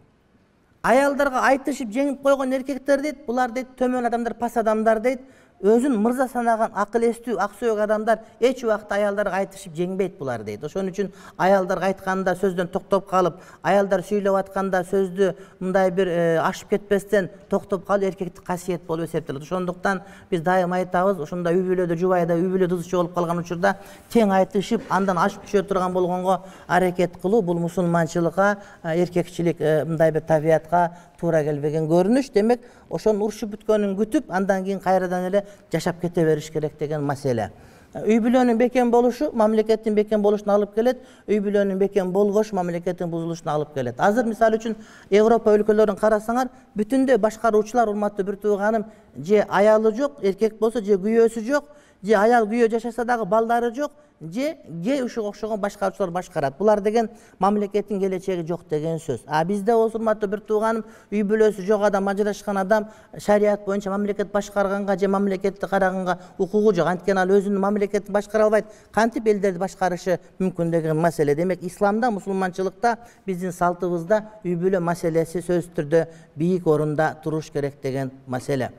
Аялдарга айтышып жеңип койгон эркектер дейт, булар дейт төмөн адамдар, пас адамдар дейт. Өзүн мырза санаган акыл эстүү, ак сөөк адамдар эч убакта аялдарга айтышып жеңбейт булар дейт. Ошон үчүн аялдарга айтканда сөздөн токтоп калып, аялдар сүйлөп атканда сөздү мындай бир ашып кетпестен токтоп калып эркектик касиет болуп эсептелет. Ошондуктан биз дайыма айтабыз, ошондой үй бүлөдө, жубайда үй бүлө тузчу болуп калган учурда тең айтышып, андан ашып түшө турган болгонго аракет кылуу бул мусулманчылыкка, эркекчилик мындай бир табиятка туура келбеген көрүнүш. Демек, ошонун урушуп бүткөнүн күтүп, андан кийин кайрадан эле жашап кете бериш керек деген маселе. Үй бүлөнүн бекем болушу мамлекеттин бекем болушуна алып келет, үй бүлөнүн бекем болбош мамлекеттин бузулушуна алып келет. Азыр мисалы үчүн Европа өлкөлөрүн карасаңар, бүтүндөй башкаруучулар, урматтуу бир тууганым, же аялы жок, эркек болсо же күйөөсү жок, же аял күйөө жашаса дагы балдары жок, же ге ушуга окшогон башкаруучулар башкарат. Булар деген мамлекеттин келечеги жок деген сөз. А бизде болсо, урматтуу бир тууганым, үй бүлөсү жок адам, ажырашкан адам шарият боюнча мамлекет башкарганга же мамлекетти караганга укугу жок. Анткени ал өзүнүн мамлекетин башкара албайт. Кантип элдерди башкарышы мүмкүн деген маселе. Демек, исламда, мусулманчылыкта, биздин салтыбызда үй бүлө маселеси сөзсүз түрдө бийик орунда туруш керек деген маселе.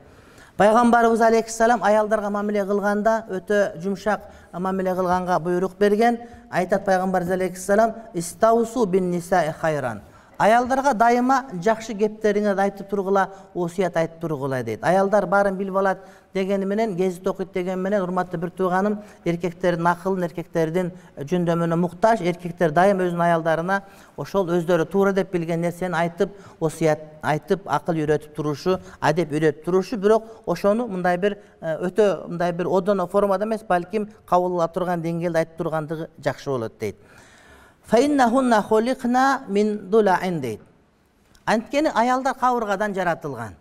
Пайгамбарыбыз алейхиссалам аялдарга мамиле кылганда өтө жумшак мамиле кылганга буйрук берген. Айтат пайгамбарыбыз алейхиссалам: "Истаусу бин нисаи хайран." Аялдарга дайыма жакшы кептериңерди айтып тургула, осуят айтып тургула дейт. Аялдар баарын билип алат дегени менен, гезит окуйт деген менен, урматтуу бир тууганым, эркектердин акылын, эркектердин жөндөмүнө муктаж. Эркектер дайым өзүнүн аялдарына ошол өздөрү туура деп билген нерсени айтып, осуят айтып, акыл үйрөтүп турушу, адеп үйрөтүп турушу, бирок ошону мындай бир өтө мындай бир одоно формада эмес, балким кабыл ала турган деңгээлде айтып тургандыгы жакшы болот дейт. Фаиннахунна хуликна мин дулаин дейт. Анткени аялдар кабыргадан жаратылган.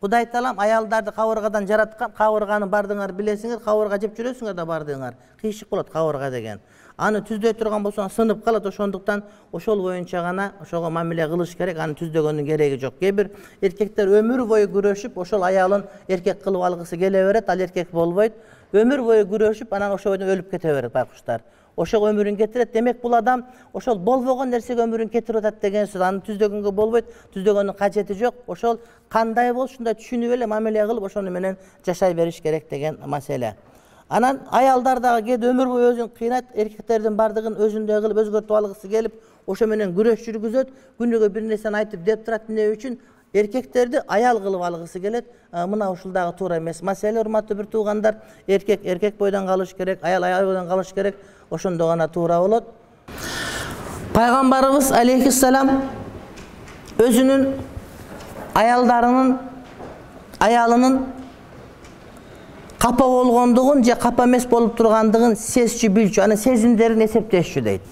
Кудай Таалам аялдарды кабыргадан жараткан. Кабырганы бардыңар билесиңер, кабырга жеп жүрөсүңөр да бардыңар. Кыйшык болот кабырга деген. Аны түздөй турган болсоң сынып калат. Ошондуктан ошол боюнча гана ошого мамиле кылыш керек. Аны түздөгөндүн кереги жок. Кээ бир эркектер өмүр бою күрөшүп, ошол аялын эркек кылып алгысы келе берет, ал эркек болбойт. Өмүр бою күрөшүп, анан ошол бойдон өлүп кете берет байкуштар. Ошого өмүрүн кетирет. Демек, бул адам ошол болбогон нерсеге өмүрүн кетирип атат деген сөз. Аны түздөгөнгө болбойт, түздөгөндүн кажети жок. Ошол кандай болсо ушундай түшүнүп эле мамиле кылып, ошону менен жашай бериш керек деген маселе. Анан аялдар дагы кээде өмүр бою өзүн кыйнайт, эркектердин бардыгын өзүндөй кылып өзгөртүп алгысы келип, ошо менен күрөш жүргүзөт. Күнүгө бир нерсени айтып деп турат. Эмне үчүн? Эркектерди аял кылып алгысы келет. Мына ушул дагы туура эмес маселе. Урматтуу бир туугандар, эркек эркек бойдон калыш керек, аял аял бойдон калыш керек. Ошондо гана туура болот. Пайгамбарыбыз алейхиссалам өзүнүн аялдарынын аялынын капа болгондугун же капа эмес болуп тургандыгын сезчү, билчү, анын сезимдерин эсептешчү дейт.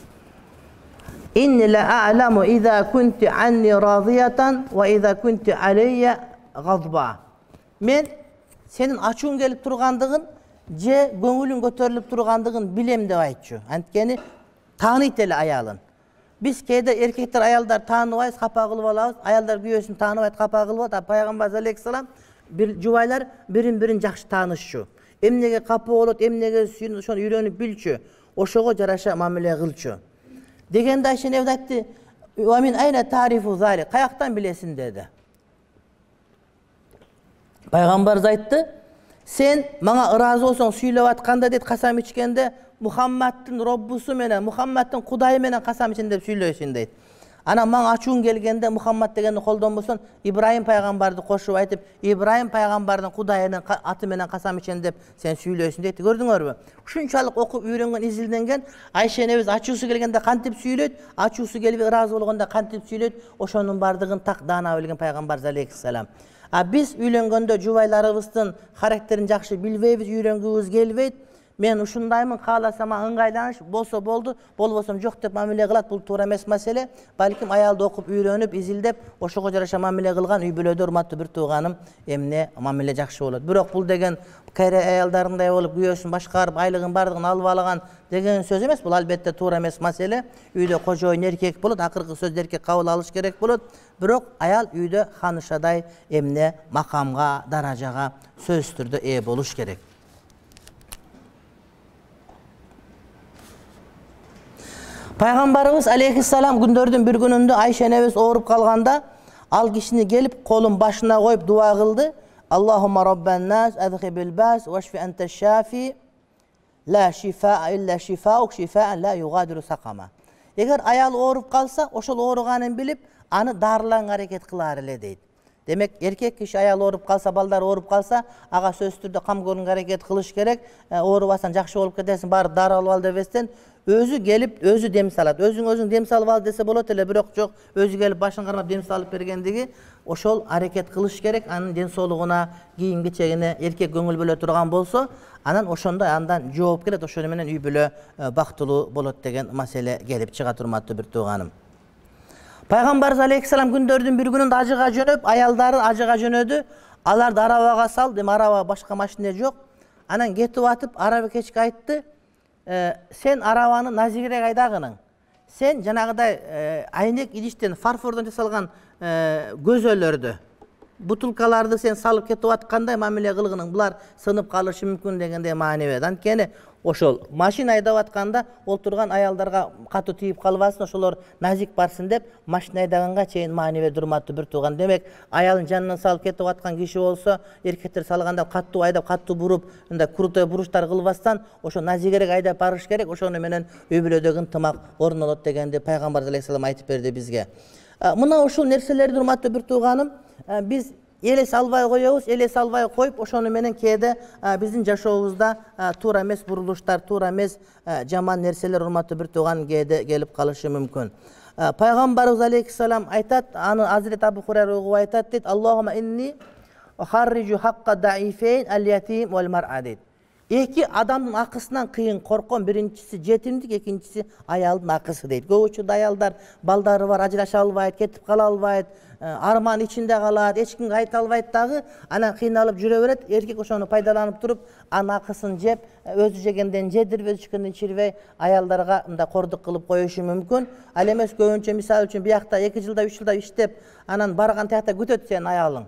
Inni la a'lamu idha kunti anni radiyatan wa idha kunti alayya ghadba. Men senin ачууң келип тургандыгын же көңүлүң көтөрүлүп тургандыгын билем деп айтчу. Анткени тааныйт эле аялын. Биз кээде эркектер аялдар тааныбайбыз, капа кылып алабыз, аялдар күйөөсүн тааныбайт, капа кылып алат. Пайгамбар алейхиссалам бир жубайлар бирин-бирин жакшы таанышчу. Эмнеге капа болот, эмнеге сүйүнүп, ошону үйрөнүп билчү. Ошого жараша мамиле кылчу. Дегенде Айша эне айтты: "Ва мин айна тарифу залик?" Каяктан билесиң деди. Пайгамбар айтты: "Сен мага ыраазы болсоң, сүйлөп атканда дейт, касам ичкенде Мухаммадтын Роббусу менен, Мухаммадтын Кудайы менен касам ичин деп сүйлөйсүң" дейт. Анан мага ачууң келгенде Мухаммад дегенди колдонбосоң, Ибрайым пайгамбарды кошуп айтып, Ибрайым пайгамбардын Кудайынын аты менен касам ичен деп сен сүйлөйсүң дейт. Көрдүңөрбү? Ушунчалык окуп үйрөнгөн, изилденген. Айша энебиз ачуусу келгенде кантип сүйлөйт, ачуусу келип ыраазы болгондо кантип сүйлөйт, ошонун бардыгын так даана билген пайгамбар алейхиссалам. А биз үйлөнгөндө жубайларыбыздын характерин жакшы билбейбиз, үйрөнгүбүз келбейт. Мен ушундаймын, кааласам ыңгайланыш, болсо болду, болбосом жок деп мамиле кылат. Бул туура эмес маселе. Балким аялды окуп, үйрөнүп, изилдеп, ошого жараша мамиле кылган үй бүлөдө, урматтуу бир тууганым, эмне мамиле жакшы болот. Бирок бул деген кайра аялдарындай болуп, күйөөсүн башкарып, айлыгын бардыгын алып алаган деген сөз эмес. Бул албетте туура эмес маселе. Үйдө кожоюн эркек болот, акыркы сөздү эркек кабыл алыш керек болот. Бирок аял үйдө ханышадай эмне макамга, даражага сөзсүз түрдө ээ болуш керек. Пайгамбарыбыз алейхиссалам күндөрдүн бир күнүндө Айша энебиз ооруп калганда, ал кишини келип колун башына коюп дуа кылды. Аллахумма роббан нас адхибил бас вашфи анта шафи ла шифаа илля шифаук шифаан ла югадиру сакама. Эгер аял ооруп калса, ошол ооруганын билип, аны дарыланга аракет кылаар эле дейт. Демек, эркек киши аял ооруп калса, балдар ооруп калса, ага сөзсүз түрдө кам көрүүгө аракет кылыш керек. Оорубасаң жакшы болуп кетесиң, баары дары алып ал дебестен, өзү келип, өзү дем салат. Өзүң өзүң дем салып ал десе болот эле, бирок жок, өзү келип башын кармап дем салып бергендиги, ошол аракет кылыш керек. Анын ден соолугуна, кийим кечегине эркек көңүл бөлө турган болсо, анан ошондой андан жооп келет, ошону менен үй бүлө бактылуу болот деген маселе келип чыга, урматтуу бир тууганым. Пайгамбарыбыз алейхиссалам күндөрдүн бир күнүндө ажыга жөнөп, аялдары ажыга жөнөдү. Аларды арабага салды, эми араба башка машина жок. Анан кетип атып, араба кечке айтты: "Сен арабаны назигирээк айдагының. Сен жанагыдай айнек идиштен, фарфордон жасалган көзөлөрдү, бутылкаларды сен салып кетип аткандай мамиле кылгының. Булар сынып калышы мүмкүн" дегенде маани бер. Анткени ошол машина айдап атканда олтурган аялдарга катуу тийип калбасын, ошолор назик барсын деп машина айдаганга чейин маани берди, урматтуу бир тууган. Демек, аялын жанынан салып кетип аткан киши болсо, эркектер салганда катуу айдап, катуу буруп, мындай крутой буруштар кылбастан, ошо назигерээк айдап барыш керек. Ошону менен үй бүлөдөгү ынтымак орун алат дегенди Пайгамбарыбыз алейхиссалам айтып берди бизге. Мына ушул нерселерди, урматтуу бир тууганым, биз элес албай коебуз, элес албай коюп, ошону менен кээде биздин жашообузда туура эмес бурулуштар, туура эмес жаман нерселер, урматтуу бир тууган, кээде келип калышы мүмкүн. Пайгамбарыбыз алейхиссалам айтат, аны Азирет Абу Хурайра угуп айтат дейт: "Аллахума инни ухарриджу хакка даифейн ал-ятим вал мар'a" дейт. Эки адамдын акысынан кыйын корком, биринчиси жетимдик, экинчиси аялдын акысы дейт. Көп учурда аялдар балдары бар, ажыраша албайт, кетип кала албайт, арман ичинде калат, эч кимге айта албайт дагы, анан кыйналып жүрө берет. Эркек ошону пайдаланып туруп, анын акысын жеп, өзү жегенден жедирип, өзү ичкенден ичирбей, аялдарга мындай кордук кылып коюшу мүмкүн. Ал эмес көбүнчө мисалы үчүн биякта эки жылда, үч жылда иштеп, анан барган тиякта күтөт сенин аялың.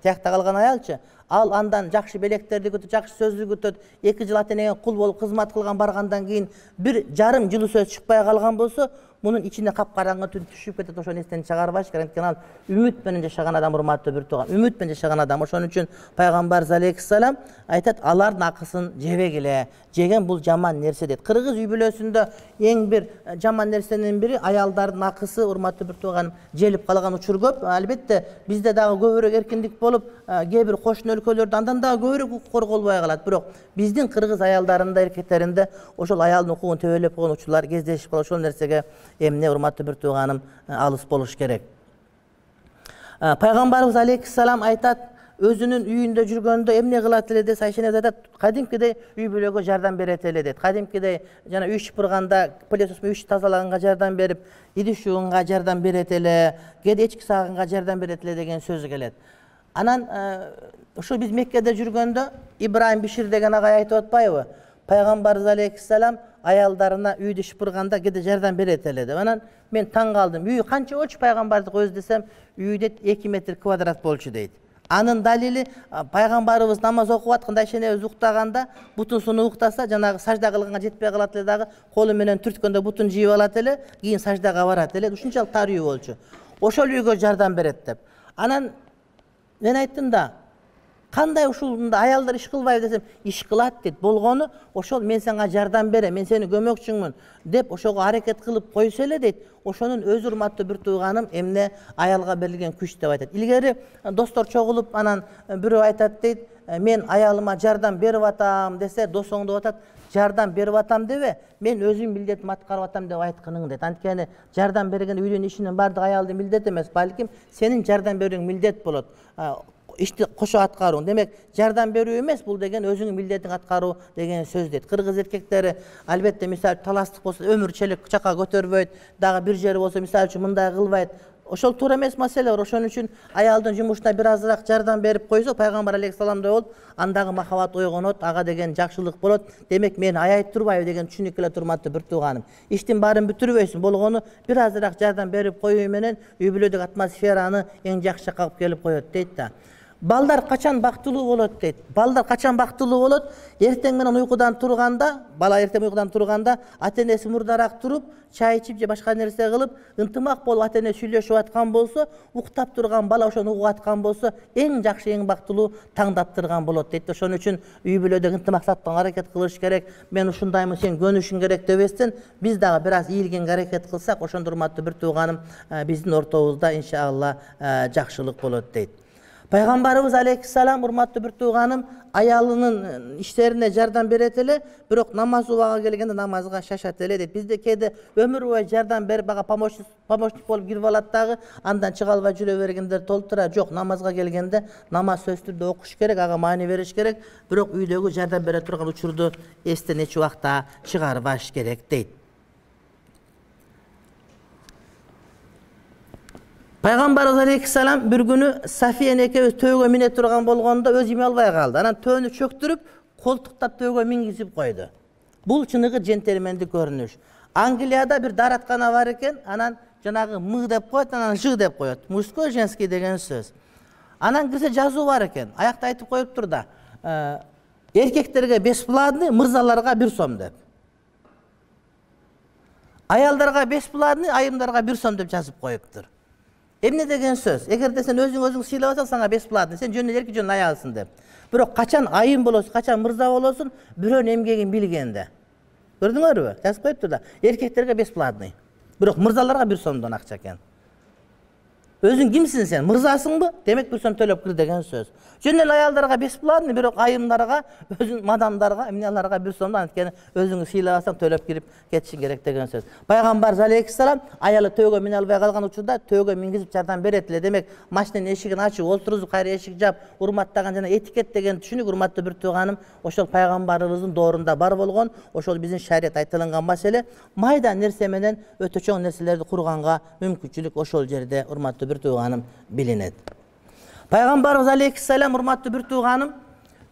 Тиякта калган аялчы, ал андан жакшы белектерди күтөт, жакшы сөздү күтөт. эки жыл ата энеге кул болуп кызмат кылган баргандан кийин бир жарым жылы сөз чыкпай калган болсо, мунун ичине капкараңгы түн түшүп кетет. Ошону эстен чыгарбаш керек. Анткени ал үмүт менен жашаган адам, урматтуу бир тууган, үмүт менен жашаган адам. Ошон үчүн Пайгамбарыбыз алейхиссалам айтат: "Алардын акысын жебегиле. Жеген бул жаман нерсе" дейт. Кыргыз үй бүлөсүндө эң бир жаман нерсенин бири аялдардын акысы, урматтуу бир тууган, желип калган учур көп. Албетте, бизде дагы көбүрөөк эркиндик болуп, кээ бир кошуна өлкөлөрдө андан дагы көбүрөөк укук корголбой калат. Бирок биздин кыргыз аялдарында, эркектеринде ошол аялдын укугун төбөлөп койгон учурлар кездешип калат. Ошол нерсеге эмне, урматтуу бир тууганым, алыс болуш керек. Пайгамбарыбыз алейхиссалам айтат, өзүнүн үйүндө жүргөндө эмне кылат эле десе, Айша энебиз айтат, кадимкидей үй бүлөгө жардам берет эле дейт. Кадимкидей жана үй шыпырганда, пылесос менен үй тазалаганга жардам берип, идиш жууганга жардам берет эле, кээде эчки сааганга жардам берет эле деген сөз келет. Анан ошо биз Меккеде жүргөндө Ибраим Бишир деген агай айтып атпайбы? Пайгамбарыбыз алейхиссалам аялдарына үйдү шыпырганда кээде жардам берет эле деп. Анан мен таң калдым. Үйү канча болчу пайгамбардыкы өзү десем, үйү дейт эки метр квадрат болчу дейт. Анын далили пайгамбарыбыз намаз окуп атканда, Айша энебиз уктаганда, бутун суну уктаса, жанагы сажда кылганга жетпей калат эле дагы, колу менен түрткөндө бутун жийип алат эле, кийин саждага барат эле. Ушунчалык тар үй болчу. Ошол үйгө жардам берет деп. Анан мен айттым да, кандай ушунда аялдар иш кылбайбы десем, иш кылат дейт. Болгону ошол мен сага жардам берем, мен сени көмөкчүңмүн деп ошого аракет кылып койсо эле дейт. Ошонун өз, урматтуу бир тууганым, эмне аялга берилген күч деп айтат. Илгери достор чогулуп, анан бирөө айтат дейт, мен аялыма жардам берип атам десе, досуң деп атат, жардам берип атам дебе, мен өзүм милдетим аткарып атам деп айткының дейт. Анткени жардам берген үйдүн ишинин бардыгы аялдын милдети эмес, балким сенин жардам берүүң милдет болот. Ишти кошо аткаруу. Демек, жардам берүү эмес, бул деген өзүңүн милдетиң аткаруу деген сөз дейт. Кыргыз эркектери албетте мисалы таластык болсо өмүр челек чака көтөрбөйт, дагы бир жери болсо мисалы үчүн мындай кылбайт. Ошол туура эмес маселе бар. Ошон үчүн аялдын жумушуна бир азыраак жардам берип койсо, Пайгамбар алейхиссаламдай болуп, андагы махабат ойгонот, ага деген жакшылык болот. Демек, мени аябай турбайбы деген түшүнүк эле, урматтуу бир тууганым. Иштин баарын бүтүрбөйсүң, болгону бир азыраак жардам берип коюу менен үй бүлөдөгү атмосфераны эң жакшы жакка алып келип коет дейт да. Балдар качан бактылуу болот дейт. Балдар качан бактылуу болот? Эртең менен уйкудан турганда, бала эртең уйкудан турганда, ата-энеси мурдараак туруп, чай ичип же башка нерсе кылып, ынтымак болуп ата-эне сүйлөшүп аткан болсо, уктап турган бала ошону угуп аткан болсо, эң жакшы, эң бактылуу таңдаптырган болот дейт. Ошон үчүн үй бүлөдө ынтымакташтыкка аракет кылыш керек. Мен ушундаймын, сен көнүшүң керек дебестен, биз дагы бир аз ийилгенге аракет кылсак, ошондо урматтуу бир тууганым, биздин ортобузда иншалла жакшылык болот дейт. Пайгамбарыбыз алейхиссалам, урматтуу бир тууганым, аялынын иштерине жардам берет эле, бирок намаз убагы келгенде намазга шашат эле дейт. Бизде кээде өмүр бою жардам берип, бага помощник помощник болуп кирип алат дагы, андан чыга албай жүрө бергендер толтура. Жок, намазга келгенде намаз сөзсүз түрдө окуш керек, ага маани бериш керек, бирок үйдөгү жардам бере турган учурду эстен эч убакта чыгарбаш керек дейт. Пайгамбарыбыз алейхиссалам бир күнү Сафия экөөбүз төөгө мине турган болгондо өзү эме албай калды. Анан төөнү чөктүрүп, колтуктап төөгө мингизип койду. Бул чыныгы джентльмендик көрүнүш. Англияда бир даараткана бар экен, анан жанагы мы деп коет, анан ж деп коет. Мужской, женский деген сөз. Анан кирсе жазуу бар экен. Аякта айтып коюптур да, эркектерге бесплатный, мырзаларга бир сом деп. Аялдарга бесплатный, айымдарга бир сом деп жазып коюптур. Эмне деген сөз? Эгерде сен өзүң өзүң сыйлабасаң, сага бесплатный, сен жөн эле эркек жөн аялсың деп. Бирок качан айым болосуң, качан мырза болосуң, бирөөнүн эмгегин билгенде. Көрдүңөрбү? Жазып коюптур да. Эркектерге бесплатный. Бирок мырзаларга бир сомдон акча экен. Өзүң кимсиң сен? Мырзасыңбы? Демек бир сом төлөп кир деген сөз. Жөн эле аялдарга бесплатный, бирок айымдарга, өзүн мадамдарга, эмнелерге бир сомдон, анткени өзүң сыйлабасаң төлөп кирип кетишиң керек деген сөз. Пайгамбар алейхиссалам аялы төөгө мине албай калган учурда төөгө мингизип жардам берет эле. Демек, машинанын эшигин ачып, олтурузуп, кайра эшик жап, урматтаган жана этикет деген түшүнүк, урматтуу бир тууганым, ошол пайгамбарыбыздын доорунда бар болгон, ошол биздин шарият айтылган маселе, майда нерсе менен өтө чоң нерселерди курганга мүмкүнчүлүк ошол жерде, урматтуу бир тууганым, билинет. Пайгамбарыбыз алейхиссалам, урматтуу бир тууганым,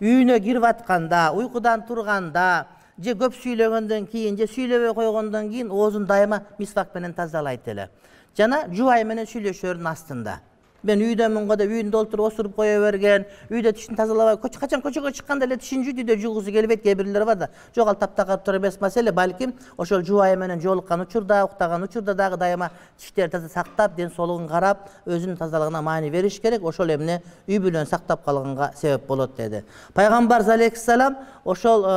үйүнө кирип атканда, уйкудан турганда, же көп сүйлөгөндөн кийин, же сүйлөбөй койгондон кийин оозун дайыма мисвак менен тазалайт эле. Жана жубай менен сүйлөшөрүн астында. Мен үйдөмүн го деп үйүндө олтуруп осуруп кое берген, үйдө тишин тазалабай, качан көчөгө чыкканда эле тишин жүйдү деп жугусу келбейт, кээ бирлер бар да. Жок, ал таптакыр тура эмес маселе, балким ошол жубайы менен жолуккан учурда, уктаган учурда дагы дайыма тиштерди таза сактап, ден соолугун карап, өзүнүн тазалыгына маани бериш керек. Ошол эмне үй бүлөнү сактап калганга себеп болот деди. Пайгамбар алейхиссалам ошол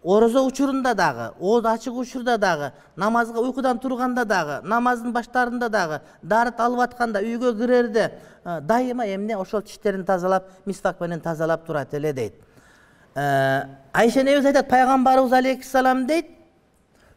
орозо учурунда дагы, ооз ачык учурда дагы, намазга уйкудан турганда дагы, намаздын баштарында дагы, даарат алып атканда, үйгө кирерде дайыма эмне ошол тиштерин тазалап, мисвак менен тазалап турат эле дейт. Айша энебиз айтат, пайгамбарыбыз алейхиссалам дейт,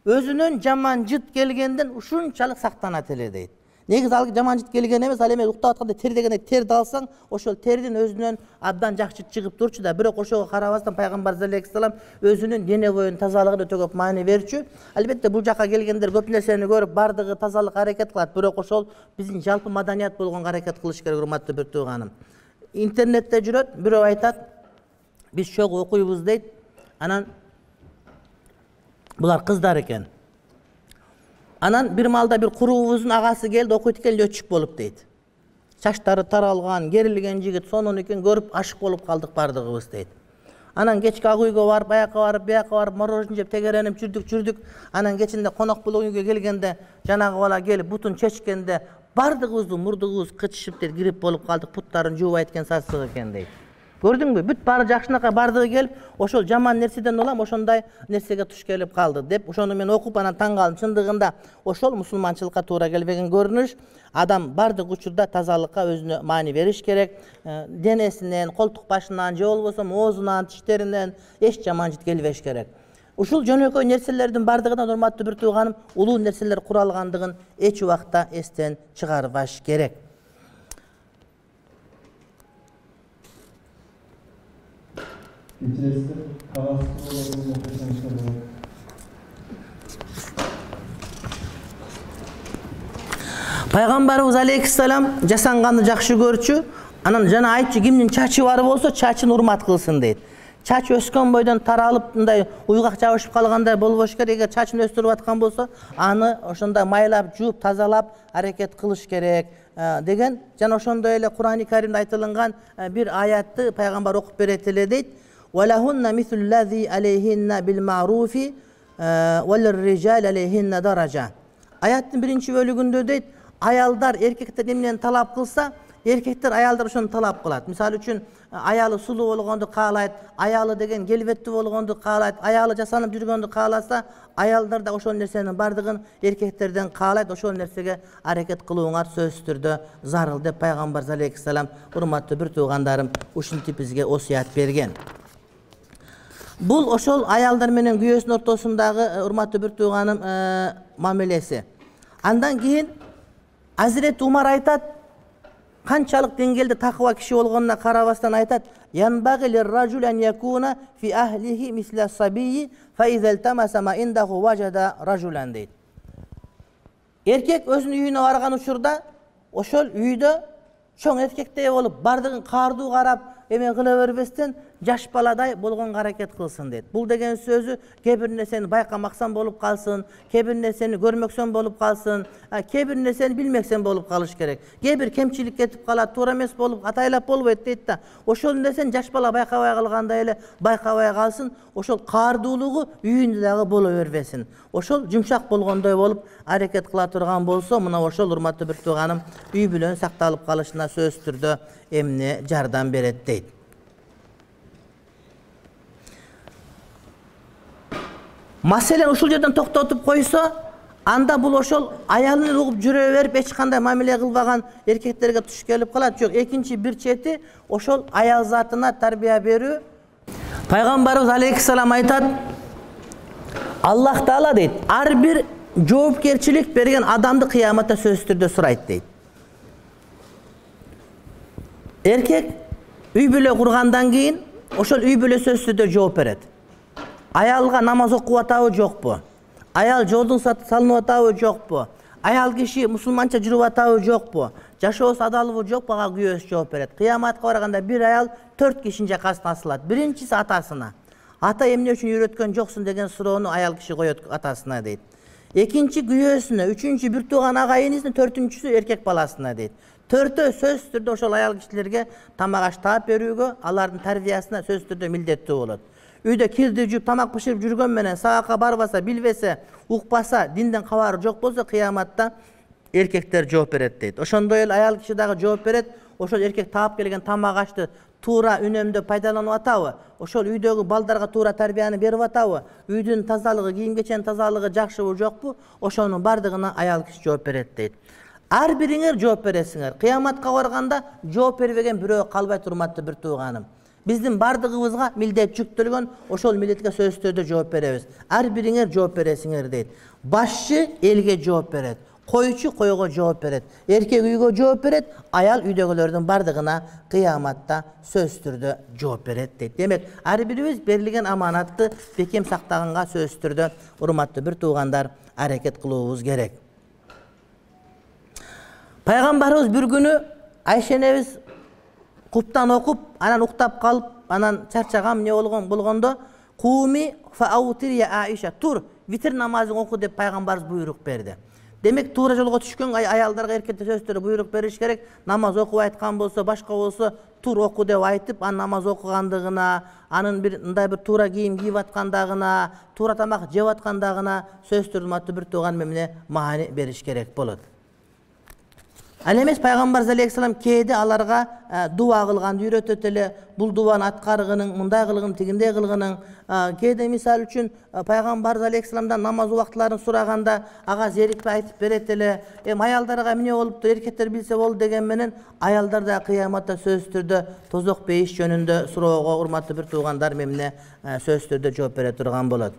өзүнөн жаман жыт келгенден ушунчалык сактанат эле дейт. Негизи ал жаман жыт келген эмес, ал эме уктап атканда тер дегенде терди алсаң, ошол тердин өзүнөн абдан жакшы чыгып турчу да. Бирок ошого карабастан пайгамбар алейхиссалам өзүнүн дене боюнун тазалыгына өтө көп маани берчү. Албетте бул жака келгендер көп нерсени көрүп, бардыгы тазалык аракет кылат, бирок ошол биздин жалпы маданият болгонго аракет кылыш керек, урматтуу бир тууганым. Интернетте жүрөт, бирөө айтат, биз чогуу окуйбуз дейт. Анан булар кыздар экен. Анан бир маалда бир куруубуздун агасы келди, окуйт экен, летчик болуп дейт. Чачтары таралган, керилген жигит, сонун экен, көрүп ашык болуп калдык бардыгыбыз дейт. Анан кечки ак үйгө барып, баякка барып, бияка барып, мороженое жеп, тегеренип жүрдүк, жүрдүк. Анан кечинде конок болуп үйгө келгенде, жанагы бала келип бутун чечкенде, бардыгыбыздын мурдугубуз кычышып дейт, грипп болуп калдык, буттарын жуубайт экен, сасык экен дейт. Көрдүңбү? Бүт баары жакшынакай бардыгы келип, ошол жаман нерседен улам ошондой нерсеге туш келип калды деп, ошону мен окуп анан таң калдым. Чындыгында ошол мусулманчылыкка туура келбеген көрүнүш. Адам бардык учурда тазалыкка өзүнө маани бериш керек. Денесинен, колтук башынан, же болбосо оозунан, тиштеринен эч жаман жыт келбеш керек. Ушул жөнөкөй нерселердин бардыгынан, урматтуу бир тууганым, улуу нерселер куралгандыгын эч убакта эстен чыгарбаш керек. Пайгамбарыбыз алейхиссалам жасанганды жакшы көрчү. Анан жана айтчу, кимдин чачы бар болсо, чачын урмат кылсын дейт. чач өскөн бойдон таралып мындай уйгак жабышып калгандай болбош керек. Эгер чачын өстүрүп аткан болсо, аны ошондой майлап, жууп, тазалап аракет кылыш керек деген жана ошондой эле Кур'ан-ы Каримде айтылган бир аятты пайгамбар окуп берет эле дейт. وَلَهُنَّ مِثْلُ الَّذِي عَلَيْهِنَّ بِالْمَعْرُوفِ وَلِلرِّجَالِ عَلَيْهِنَّ دَرَجَةٌ. Аяттын биринчи бөлүгүндө дейт, аялдар эркектер эмнени талап кылса, эркектер аялдар ошону талап кылат. Мисалы үчүн аялы сулуу болгонду каалайт, аялы деген келбеттүү болгонду каалайт, аялы жасанып жүргөндү кааласа, аялдар да ошол нерсенин бардыгын эркектерден каалайт. Ошол нерсеге аракет кылууңар сөзсүз түрдө зарыл деп пайгамбар алейхиссалам, урматтуу бир туугандарым, ушинтип бизге осуят берген. Бул ошол аялдар менен күйөөсүнүн ортосундагы урматтуу бир тууганым мамилеси. Андан кийин Азирет Умар айтат, канчалык деңгээлде такыба киши болгонуна карабастан айтат: "Янбагы лир-ражули ан якуна фи ахлихи мисля сабийи, фа иза илтамаса ма индаху важада ражулан" дейт. Эркек өзүнүн үйүнө барган учурда ошол үйдө чоң эркектей болуп, бардыгын каардуу карап, эме кыла бербестен жаш баладай болгонго аракет кылсын дейт. Бул деген сөзү кээ бир нерсени байкамаксан болуп калсын, кээ бир нерсени көрмөксөн болуп калсын, кээ бир нерсени билмексен болуп калыш керек. Кээ бир кемчилик кетип калат, туура эмес болуп, атайлап болбойт дейт да. Ошол нерсени жаш бала байкабай калгандай эле байкабай калсын, ошол каардуулугу үйүндө дагы боло бербесин. Ошол жумшак болгондой болуп аракет кыла турган болсо, мына ошол урматтуу бир тууганым үй бүлөнүн сакталып калышына сөзсүз түрдө эмне жардам берет дейт. Маселен ушул жерден токтотуп койсо, анда бул ошол аялын угуп жүрө берип эч кандай мамиле кылбаган эркектерге туш келип калат. Жок, экинчи бир чети ошол аял затына тарбия берүү. Пайгамбарыбыз алейхиссалам айтат: Аллах Таала дейт, ар бир жоопкерчилик берген адамды кыяматта сөзсүз түрдө сурайт дейт. Эркек үй бүлө кургандан кийин ошол үй бүлө сөзсүз түрдө жооп берет. Аялга намаз окуп атабы жокпу? Аял жолдун салынып атабы жокпу? Аял киши мусулманча жүрүп атабы жокпу? Жашоосу адалбы жокпу? Ага күйөөсү жооп берет. Кыяматка барганда бир аял төрт кишинин жакасына асылат. Биринчиси атасына. Ата эмне үчүн үйрөткөн жоксуң деген суроону аял киши коет атасына дейт. Экинчи күйөөсүнө, үчүнчү бир тууган агайынысына, төртүнчүсү эркек баласына дейт. Төртөө сөзсүз түрдө ошол аял кишилерге тамак аш таап берүүгө, алардын тарбиясына сөзсүз түрдө милдеттүү болот. Үйдө кирди жууп, тамак бышырып жүргөн менен сабакка барбаса, билбесе, укпаса, динден кабары жок болсо, кыяматта эркектер жооп берет дейт. Ошондой эле аял киши дагы жооп берет. Ошол эркек таап келген тамак ашты туура үнөмдө пайдаланып атабы? Ошол үйдөгү балдарга туура тарбияны берип атабы? Үйдүн тазалыгы, кийим-кеченин тазалыгы жакшыбы, жокпу? Ошонун бардыгына аял киши жооп берет дейт. Ар бириңер жооп бересиңер. Кыяматка барганда жооп бербеген бирөө калбайт, урматтуу бир тууганым. Биздин бардыгыбызга милдет жүктөлгөн, ошол милдетке сөзсүз түрдө жооп беребиз. Ар бириңер жооп бересиңер дейт. Башчы элге жооп берет, койчу койго жооп берет, эркек үйгө жооп берет, аял үйдөгүлөрдүн бардыгына кыяматта сөзсүз түрдө жооп берет дейт. Демек, ар бирибиз берилген аманатты бекем сактаганга сөзсүз түрдө, урматтуу бир туугандар, аракет кылуубуз керек. Пайгамбарыбыз бир күнү Айша энебиз куптан окуп, анан уктап калып, анан чарчагам эмне болгон болгондо, "Куми фаутир я Айша", тур, витр намазын оку деп пайгамбарыбыз буйрук берди. Демек, туура жолго түшкөн аялдарга эркектер сөзсүз түрдө буйрук бериш керек. Намаз окуп айткан болсо, башка болсо, тур оку деп айтып, анын намаз окугандыгына, анын бир мындай бир туура кийим кийип аткандыгына, туура тамак жеп аткандыгына сөзсүз түрдө урматтуу бир тууган эмне маани бериш керек болот. Ал эмес пайгамбар алейхиссалам кээде аларга дуа кылганды үйрөтөт эле. Бул дуаны аткаргынын, мындай кылгын, тигиндей кылгынын. Кээде мисал үчүн пайгамбар алейхиссаламдан намаз убактыларын сураганда ага зерикпей айтып берет эле. Эми аялдарга эмне болупту, эркектер билсе болду деген менен аялдар да кыяматта сөзсүз түрдө тозок бейиш жөнүндө суроого, урматтуу бир туугандар, эмне сөзсүз түрдө жооп бере турган болот.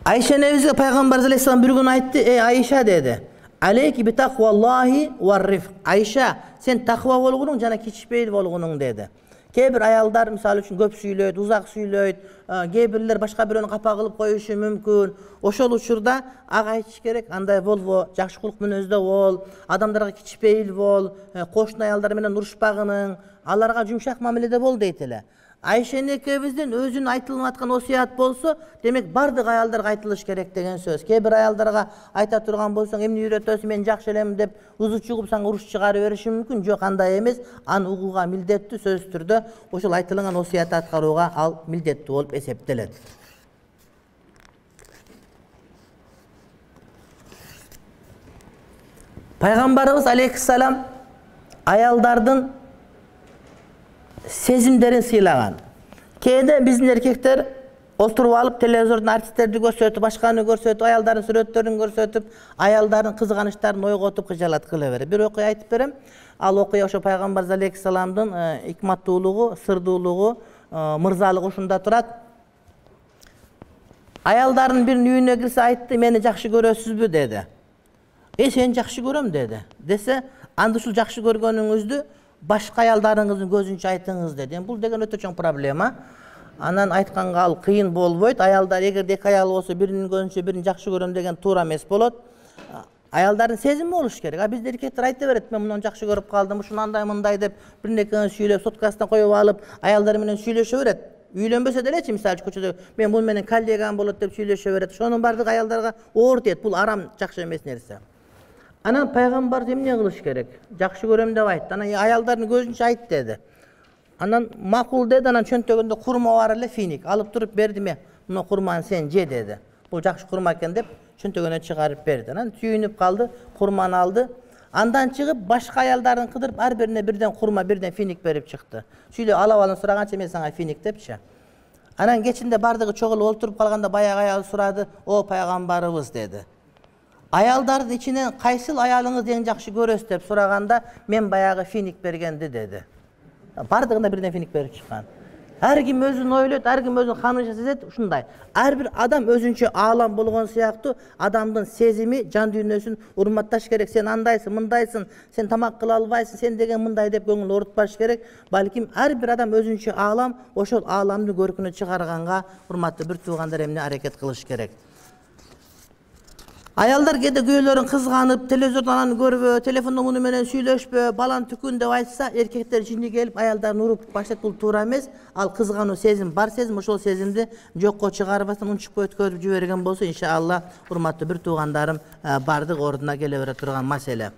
Айша энебизге пайгамбар алейхиссалам бир күн айтты: "Эй Айша" деди, "Алейки би такваллахи ва риф". Айша, сен таква болгонуң жана кичпейил болгонуң деди. Кээ бир аялдар мисалы үчүн көп сүйлөйт, узак сүйлөйт, кээ бирлер башка бирөөнү капа кылып коюшу мүмкүн. Ошол учурда ага айтыш керек, андай болбо, жакшы кулук мүнөздө бол, адамдарга кичпейил бол, кошуна аялдар менен урушпагының, аларга жумшак мамиледе бол дейт эле. Айша энекебиздин өзүнүн айтылып аткан осуят болсо, демек бардык аялдарга айтылыш керек деген сөз. Кээ бир аялдарга айта турган болсоң, эмне үйрөтөсүң, мен жакшы элем деп узу чугуп сага уруш чыгарып бериши мүмкүн. Жок, андай эмес. Аны угууга милдеттүү, сөзсүз түрдө ошол айтылган осуятты аткарууга ал милдеттүү болуп эсептелет. Пайгамбарыбыз алейхиссалам аялдардын сезимдерин сыйлаган. Кээде биздин эркектер отуруп алып телевизордон артисттерди көрсөтүп, башканы көрсөтүп, аялдардын сүрөттөрүн көрсөтүп, аялдардын кызганыштарын ойготуп кыжалат кыла берет. Бир окуя айтып берем. Ал окуя ошо пайгамбар алейхиссаламдын икматтуулугу, сырдуулугу, мырзалыгы ушунда турат. Аялдардын биринин үйүнө кирсе айтты, мени жакшы көрөсүзбү деди. Э, сени жакшы көрөм деди. Десе, анда ушул жакшы көргөнүңүздү башка аялдарыңыздын көзүнчө айтыңыз деди. Бул деген өтө чоң проблема. Анан айтканга ал кыйын болбойт. Аялдар эгерде эки аял болсо, биринин көзүнчө бирин жакшы көрөм деген туура эмес болот. Аялдардын сезими болуш керек. А бизде эркектер айта берет, мен мунун жакшы көрүп калдым, ушуну андай мындай деп бирнекени сүйлөп, соткасына коюп алып, аялдар менен сүйлөшө берет. Үйлөнбөсө делечи, мисалы көчөдө мен бул менен коллегам болот деп сүйлөшө берет. Ошонун бардыгы аялдарга оор тиет. Бул арам, жакшы эмес нерсе. Анан пайгамбар эмне кылыш керек? Жакшы көрөм деп айтты. Анан аялдардын көзүнчө айт деди. Анан макул деди. Анан чөнтөгүндө курма бар эле, финик. Алып туруп бердиме? Муну курманы сен же деди. Бул жакшы курма экен деп чөнтөгүнө чыгарып берди. Анан сүйүнүп калды, курманы алды. Андан чыгып башка аялдарын кыдырып, ар бирине бирден курма, бирден финик берип чыкты. Сүйлөп алып алын сураганча мен сага финик депчи. Анан кечинде бардыгы чогулуп отуруп калганда баягы аял сурады, "О пайгамбарыбыз" деди. Аялдардын ичинен кайсыл аялыңызды эң жакшы көрөсүз деп сураганда, мен баягы финик бергенди деди. Бардыгына бирден финик берип чыккан. Ар ким өзүн ойлойт, ар ким өзүн ханыша сезет, ушундай. Ар бир адам өзүнчө аалам болгон сыяктуу адамдын сезими, жан дүйнөсүн урматташ керек. Сен андайсың, мындайсың, сен тамак кыла албайсың, сен деген мындай деп көңүл оорутпаш керек. Балким ар бир адам өзүнчө аалам, ошол ааламдын көркүнө чыгарганга урматтуу бир туугандар эмне аракет кылыш керек. Аялдар кээде күйөөлөрүн кызганып, телевизордон аны көрбө, телефондо муну менен сүйлөшпө, балан түкүн деп айтса, эркектер жини келип аялдарын уруп баштайт. Бул туура эмес. Ал кызгануу сезим бар сезим, ошол сезимди жокко чыгарбастан унчукпай өткөрүп жиберген болсо, иншалла, урматтуу бир туугандарым, бардык ордуна келе бере турган маселе.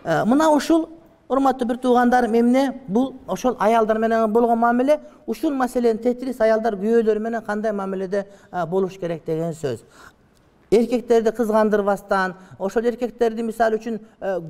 Мына ушул урматтуу бир туугандарым эмне? Бул ошол аялдар менен болгон мамиле, ушул маселени тетрис аялдар күйөөлөрү менен кандай мамиледе болуш керек деген сөз. Эркектерди кызгандырбастан, ошол эркектерди мисалы үчүн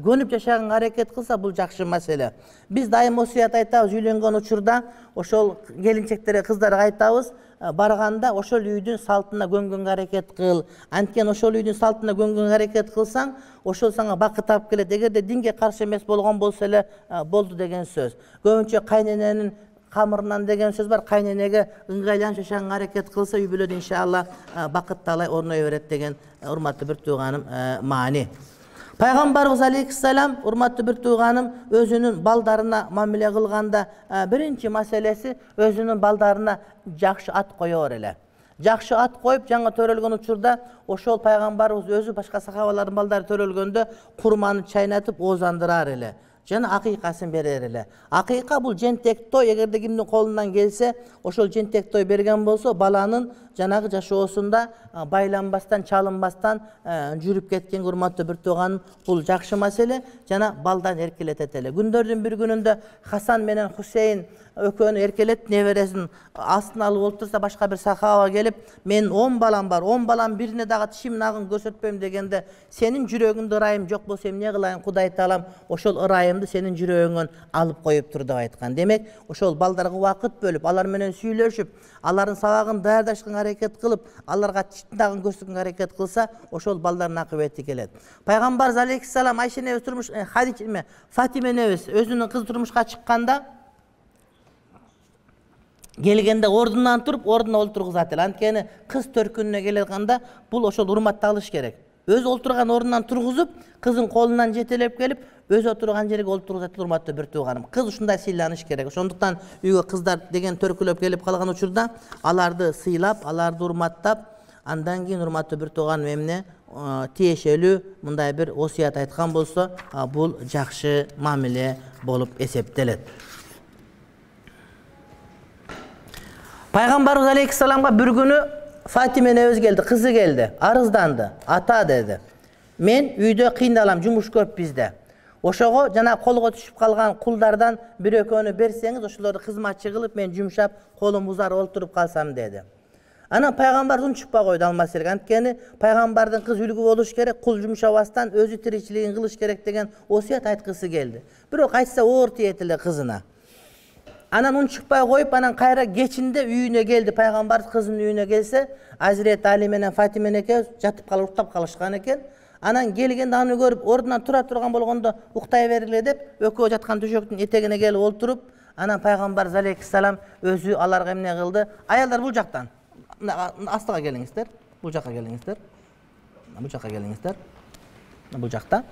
көнүп жашаганга аракет кылса, бул жакшы маселе. Биз дайым осуят айтабыз, үйлөнгөн учурда ошол келинчектерге, кыздарга айтабыз, барганда ошол үйдүн салтына көнгөнгө аракет кыл. Анткени ошол үйдүн салтына көнгөнгө аракет кылсаң, ошол сага бакыт алып келет. Эгерде динге каршы эмес болгон болсо эле болду деген сөз. Көбүнчө кайнененин камырынан деген сөз бар. Кайненеге ыңгайланып жашаганга аракет кылса, үй бүлөдө иншалла бакытталай орной берет деген урматтуу бир тууганым маани. Пайгамбарыбыз алейхиссалам, урматтуу бир тууганым, өзүнүн балдарына мамиле кылганда биринчи маселеси өзүнүн балдарына жакшы ат коёр эле. Жакшы ат коюп, жаңы төрөлгөн учурда ошол пайгамбарыбыз өзү башка сахабалардын балдары төрөлгөндө курманы чайнатып оозандырар эле. Жана акыйкасын берер эле. Акыйка бул жентек той, эгерде кимдин колунан келсе, ошол жентек той берген болсо, баланын жанагы жашоосунда байланбастан, чалынбастан жүрүп кеткен урматтуу бир тууган, бул жакшы маселе, жана балдан эркелетет эле. Күндөрдүн бир күнүндө Хасан менен Хусейн экөөнү эркелет, небересин астына алып отурса, башка бир сахаба келип, мен он балам бар, он балам бирине дагы тишимин агын көрсөтпөйм дегенде, сенин жүрөгүңдө ырайым жок болсо эмне кылайын, Кудай таалам ошол ырайымды сенин жүрөгүңөн алып коюп тур деп айткан. Демек, ошол балдарга убакыт бөлүп, алар менен сүйлөшүп, алардын сабагын даярдашканга аракет кылып, аларга тишин көрсөткөнгө аракет кылса, ошол балдардын акыбети келет. Пайгамбар алейхиссалам Айша небес турмуш, Хадича эме, Фатима небес өзүнүн кызы турмушка чыкканда, келгенде ордунан туруп, ордуна олтургузат эле. Анткени кыз төркүнүнө келгенде бул ошол урматталыш керек. өзү олтурган ордунан тургузуп, кызын колунан жетелеп келип, өзү отурган жерге олтургузат, урматтуу бир тууганым. Кыз ушундай сыйланыш керек. Ошондуктан үйгө кыздар деген төркүлөп келип калган учурда аларды сыйлап, аларды урматтап, андан кийин урматтуу бир тууганым эмне тиешелүү мындай бир осуят айткан болсо, бул жакшы мамиле болуп эсептелет. Пайгамбарыбыз алейхиссаламга бир күнү Фатима энебиз келди, кызы келди, арызданды. Ата деди, мен үйдө кыйналам, жумуш көп бизде. Ошого жана колго түшүп калган кулдардан бир экөөнү берсеңиз, ошолорду кызматчы кылып, мен жумшап, колум узар олтуруп калсам деди. Анан пайгамбар унчукпай койду ал маселеге. Анткени пайгамбардын кыз үлгү болуш керек, кул жумшабастан өзү тиричилигин кылыш керек деген осуят айткысы келди. Бирок айтса оор тиет эле кызына. Анан унчукпай коюп, анан кайра кечинде үйүнө келди. Пайгамбар кызынын үйүнө келсе, Азирет Али менен Фатима экөөбүз жатып калып уктап калышкан экен. Анан келгенде аны көрүп, ордунан тура турган болгондо уктай бергиле деп, экөө жаткан төшөктүн этегине келип олтуруп, анан пайгамбар алейхиссалам өзү аларга эмне кылды? Аялдар бул жактан. Астыга келиңиздер. Бул жакка келиңиздер. Бул жакка келиңиздер. Бул жакта.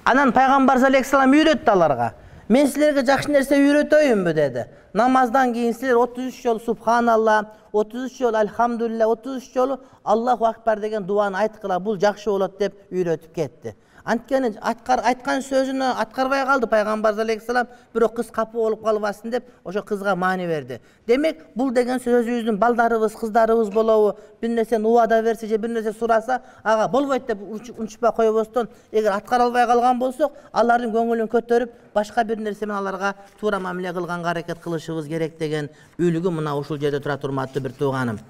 Анан пайгамбар алейхиссалам үйрөттү аларга. Мен силерге жакшы нерсе үйрөтөйүнбү деди. Намаздан кийин силер отуз үч жолу субханалла, отуз үч жолу альхамдулилля, отуз үч жолу Аллаху акбар деген дуаны айткыла, бул жакшы болот деп үйрөтүп кетти. Анткени айткан сөзүнө аткарбай калды пайгамбар алейхиссалам, бирок кыз капы болуп калбасын деп ошо кызга маани берди. Демек, бул деген сөзүбүздүн балдарыбыз, кыздарыбыз болобу, бир нерсени убада берсе же бир нерсе сураса, ага болбойт деп унчуппай койбостон, эгер аткара албай калган болсок, алардын көңүлүн көтөрүп, башка бир нерсе менен аларга туура мамиле кылганга аракет кылышыбыз керек деген үлгү мына ушул жерде турат, урматтуу бир тууганым.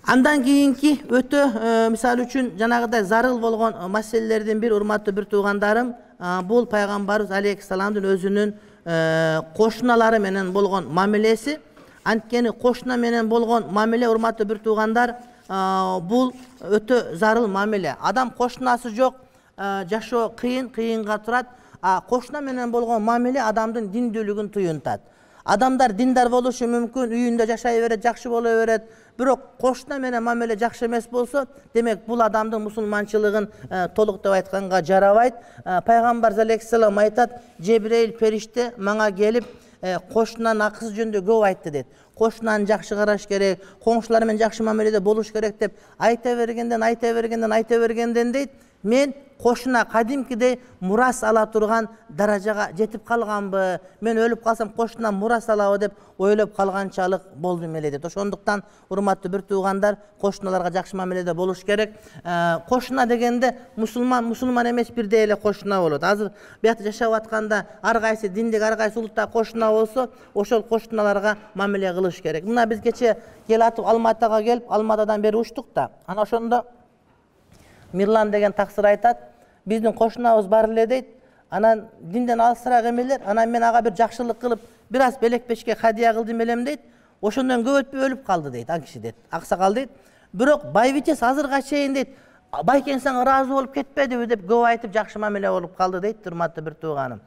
Андан кийинки өтө мисалы үчүн жанагыдай зарыл болгон маселелердин бир, урматтуу бир туугандарым, бул пайгамбарыбыз алейхиссаламдын өзүнүн кошуналары менен болгон мамилеси. Анткени кошуна менен болгон мамиле, урматтуу бир туугандар, бул өтө зарыл мамиле. Адам кошунасы жок, жашоо кыйын, кыйынга турат. Кошуна менен болгон мамиле адамдын диндүүлүгүн туюнтат. Адамдар диндар болушу мүмкүн, үйүндө жашай берет, жакшы боло берет. Бирок кошуна менен мамиле жакшы эмес болсо, демек бул адамдын мусулманчылыгын толук деп айтканга жарабайт. Пайгамбар алейхиссалам айтат, Жебрейил периште мага келип, кошунанын акысы жөнүндө көп айтты дейт. Кошунаны жакшы караш керек, коңшулар менен жакшы мамиледе болуш керек деп айта бергенден, айта бергенден, айта бергенден дейт, мен кошуна кадимкидей мурас ала турган даражага жетип калганбы, мен өлүп калсам кошунан мурас алабы деп ойлоп калганчалык болдум эле дейт. Ошондуктан урматтуу бир туугандар, кошуналарга жакшы мамиледе болуш керек. Кошуна дегенде мусулман, мусулман эмес бирдей эле кошуна болот. Азыр биякта жашап атканда ар кайсы диндик, ар кайсы улутта кошуна болсо, ошол кошуналарга мамиле кылыш керек. Мына биз кече келатып Алматага келип, Алматадан бери учтук да. Ана ошондо Мирлан деген таксыр айтат, биздин кошунабыз бар эле дейт. Анан динден алысыраак эмелер, анан мен ага бир жакшылык кылып, бир аз белек-бешке хадия кылдым элем дейт. Ошондон көп өтпөй өлүп калды дейт, ал киши дейт. Аксакал дейт. Бирок байбичес азырга чейин дейт, байкеңсең ыраазы болуп кетпедиби деп көп айтып жакшы мамиле болуп калды дейт, урматтуу бир тууганым.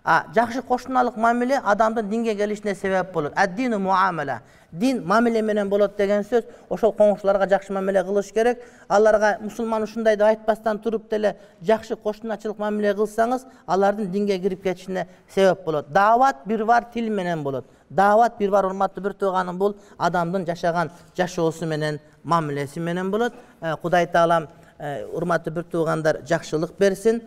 А жакшы кошуналык мамиле адамдын динге келишине себеп болот. Ад-дину муамала. Дин мамиле менен болот деген сөз. Ошол коңшуларга жакшы мамиле кылыш керек. Аларга мусулман ушундай деп айтпастан туруп деле жакшы кошуначылык мамиле кылсаңыз, алардын динге кирип кетишине себеп болот. Даават бир бар тил менен болот. Даават бир бар, урматтуу бир тууганым, бул адамдын жашаган жашоосу менен, мамилеси менен болот. Кудай таалам урматтуу бир туугандар жакшылык берсин.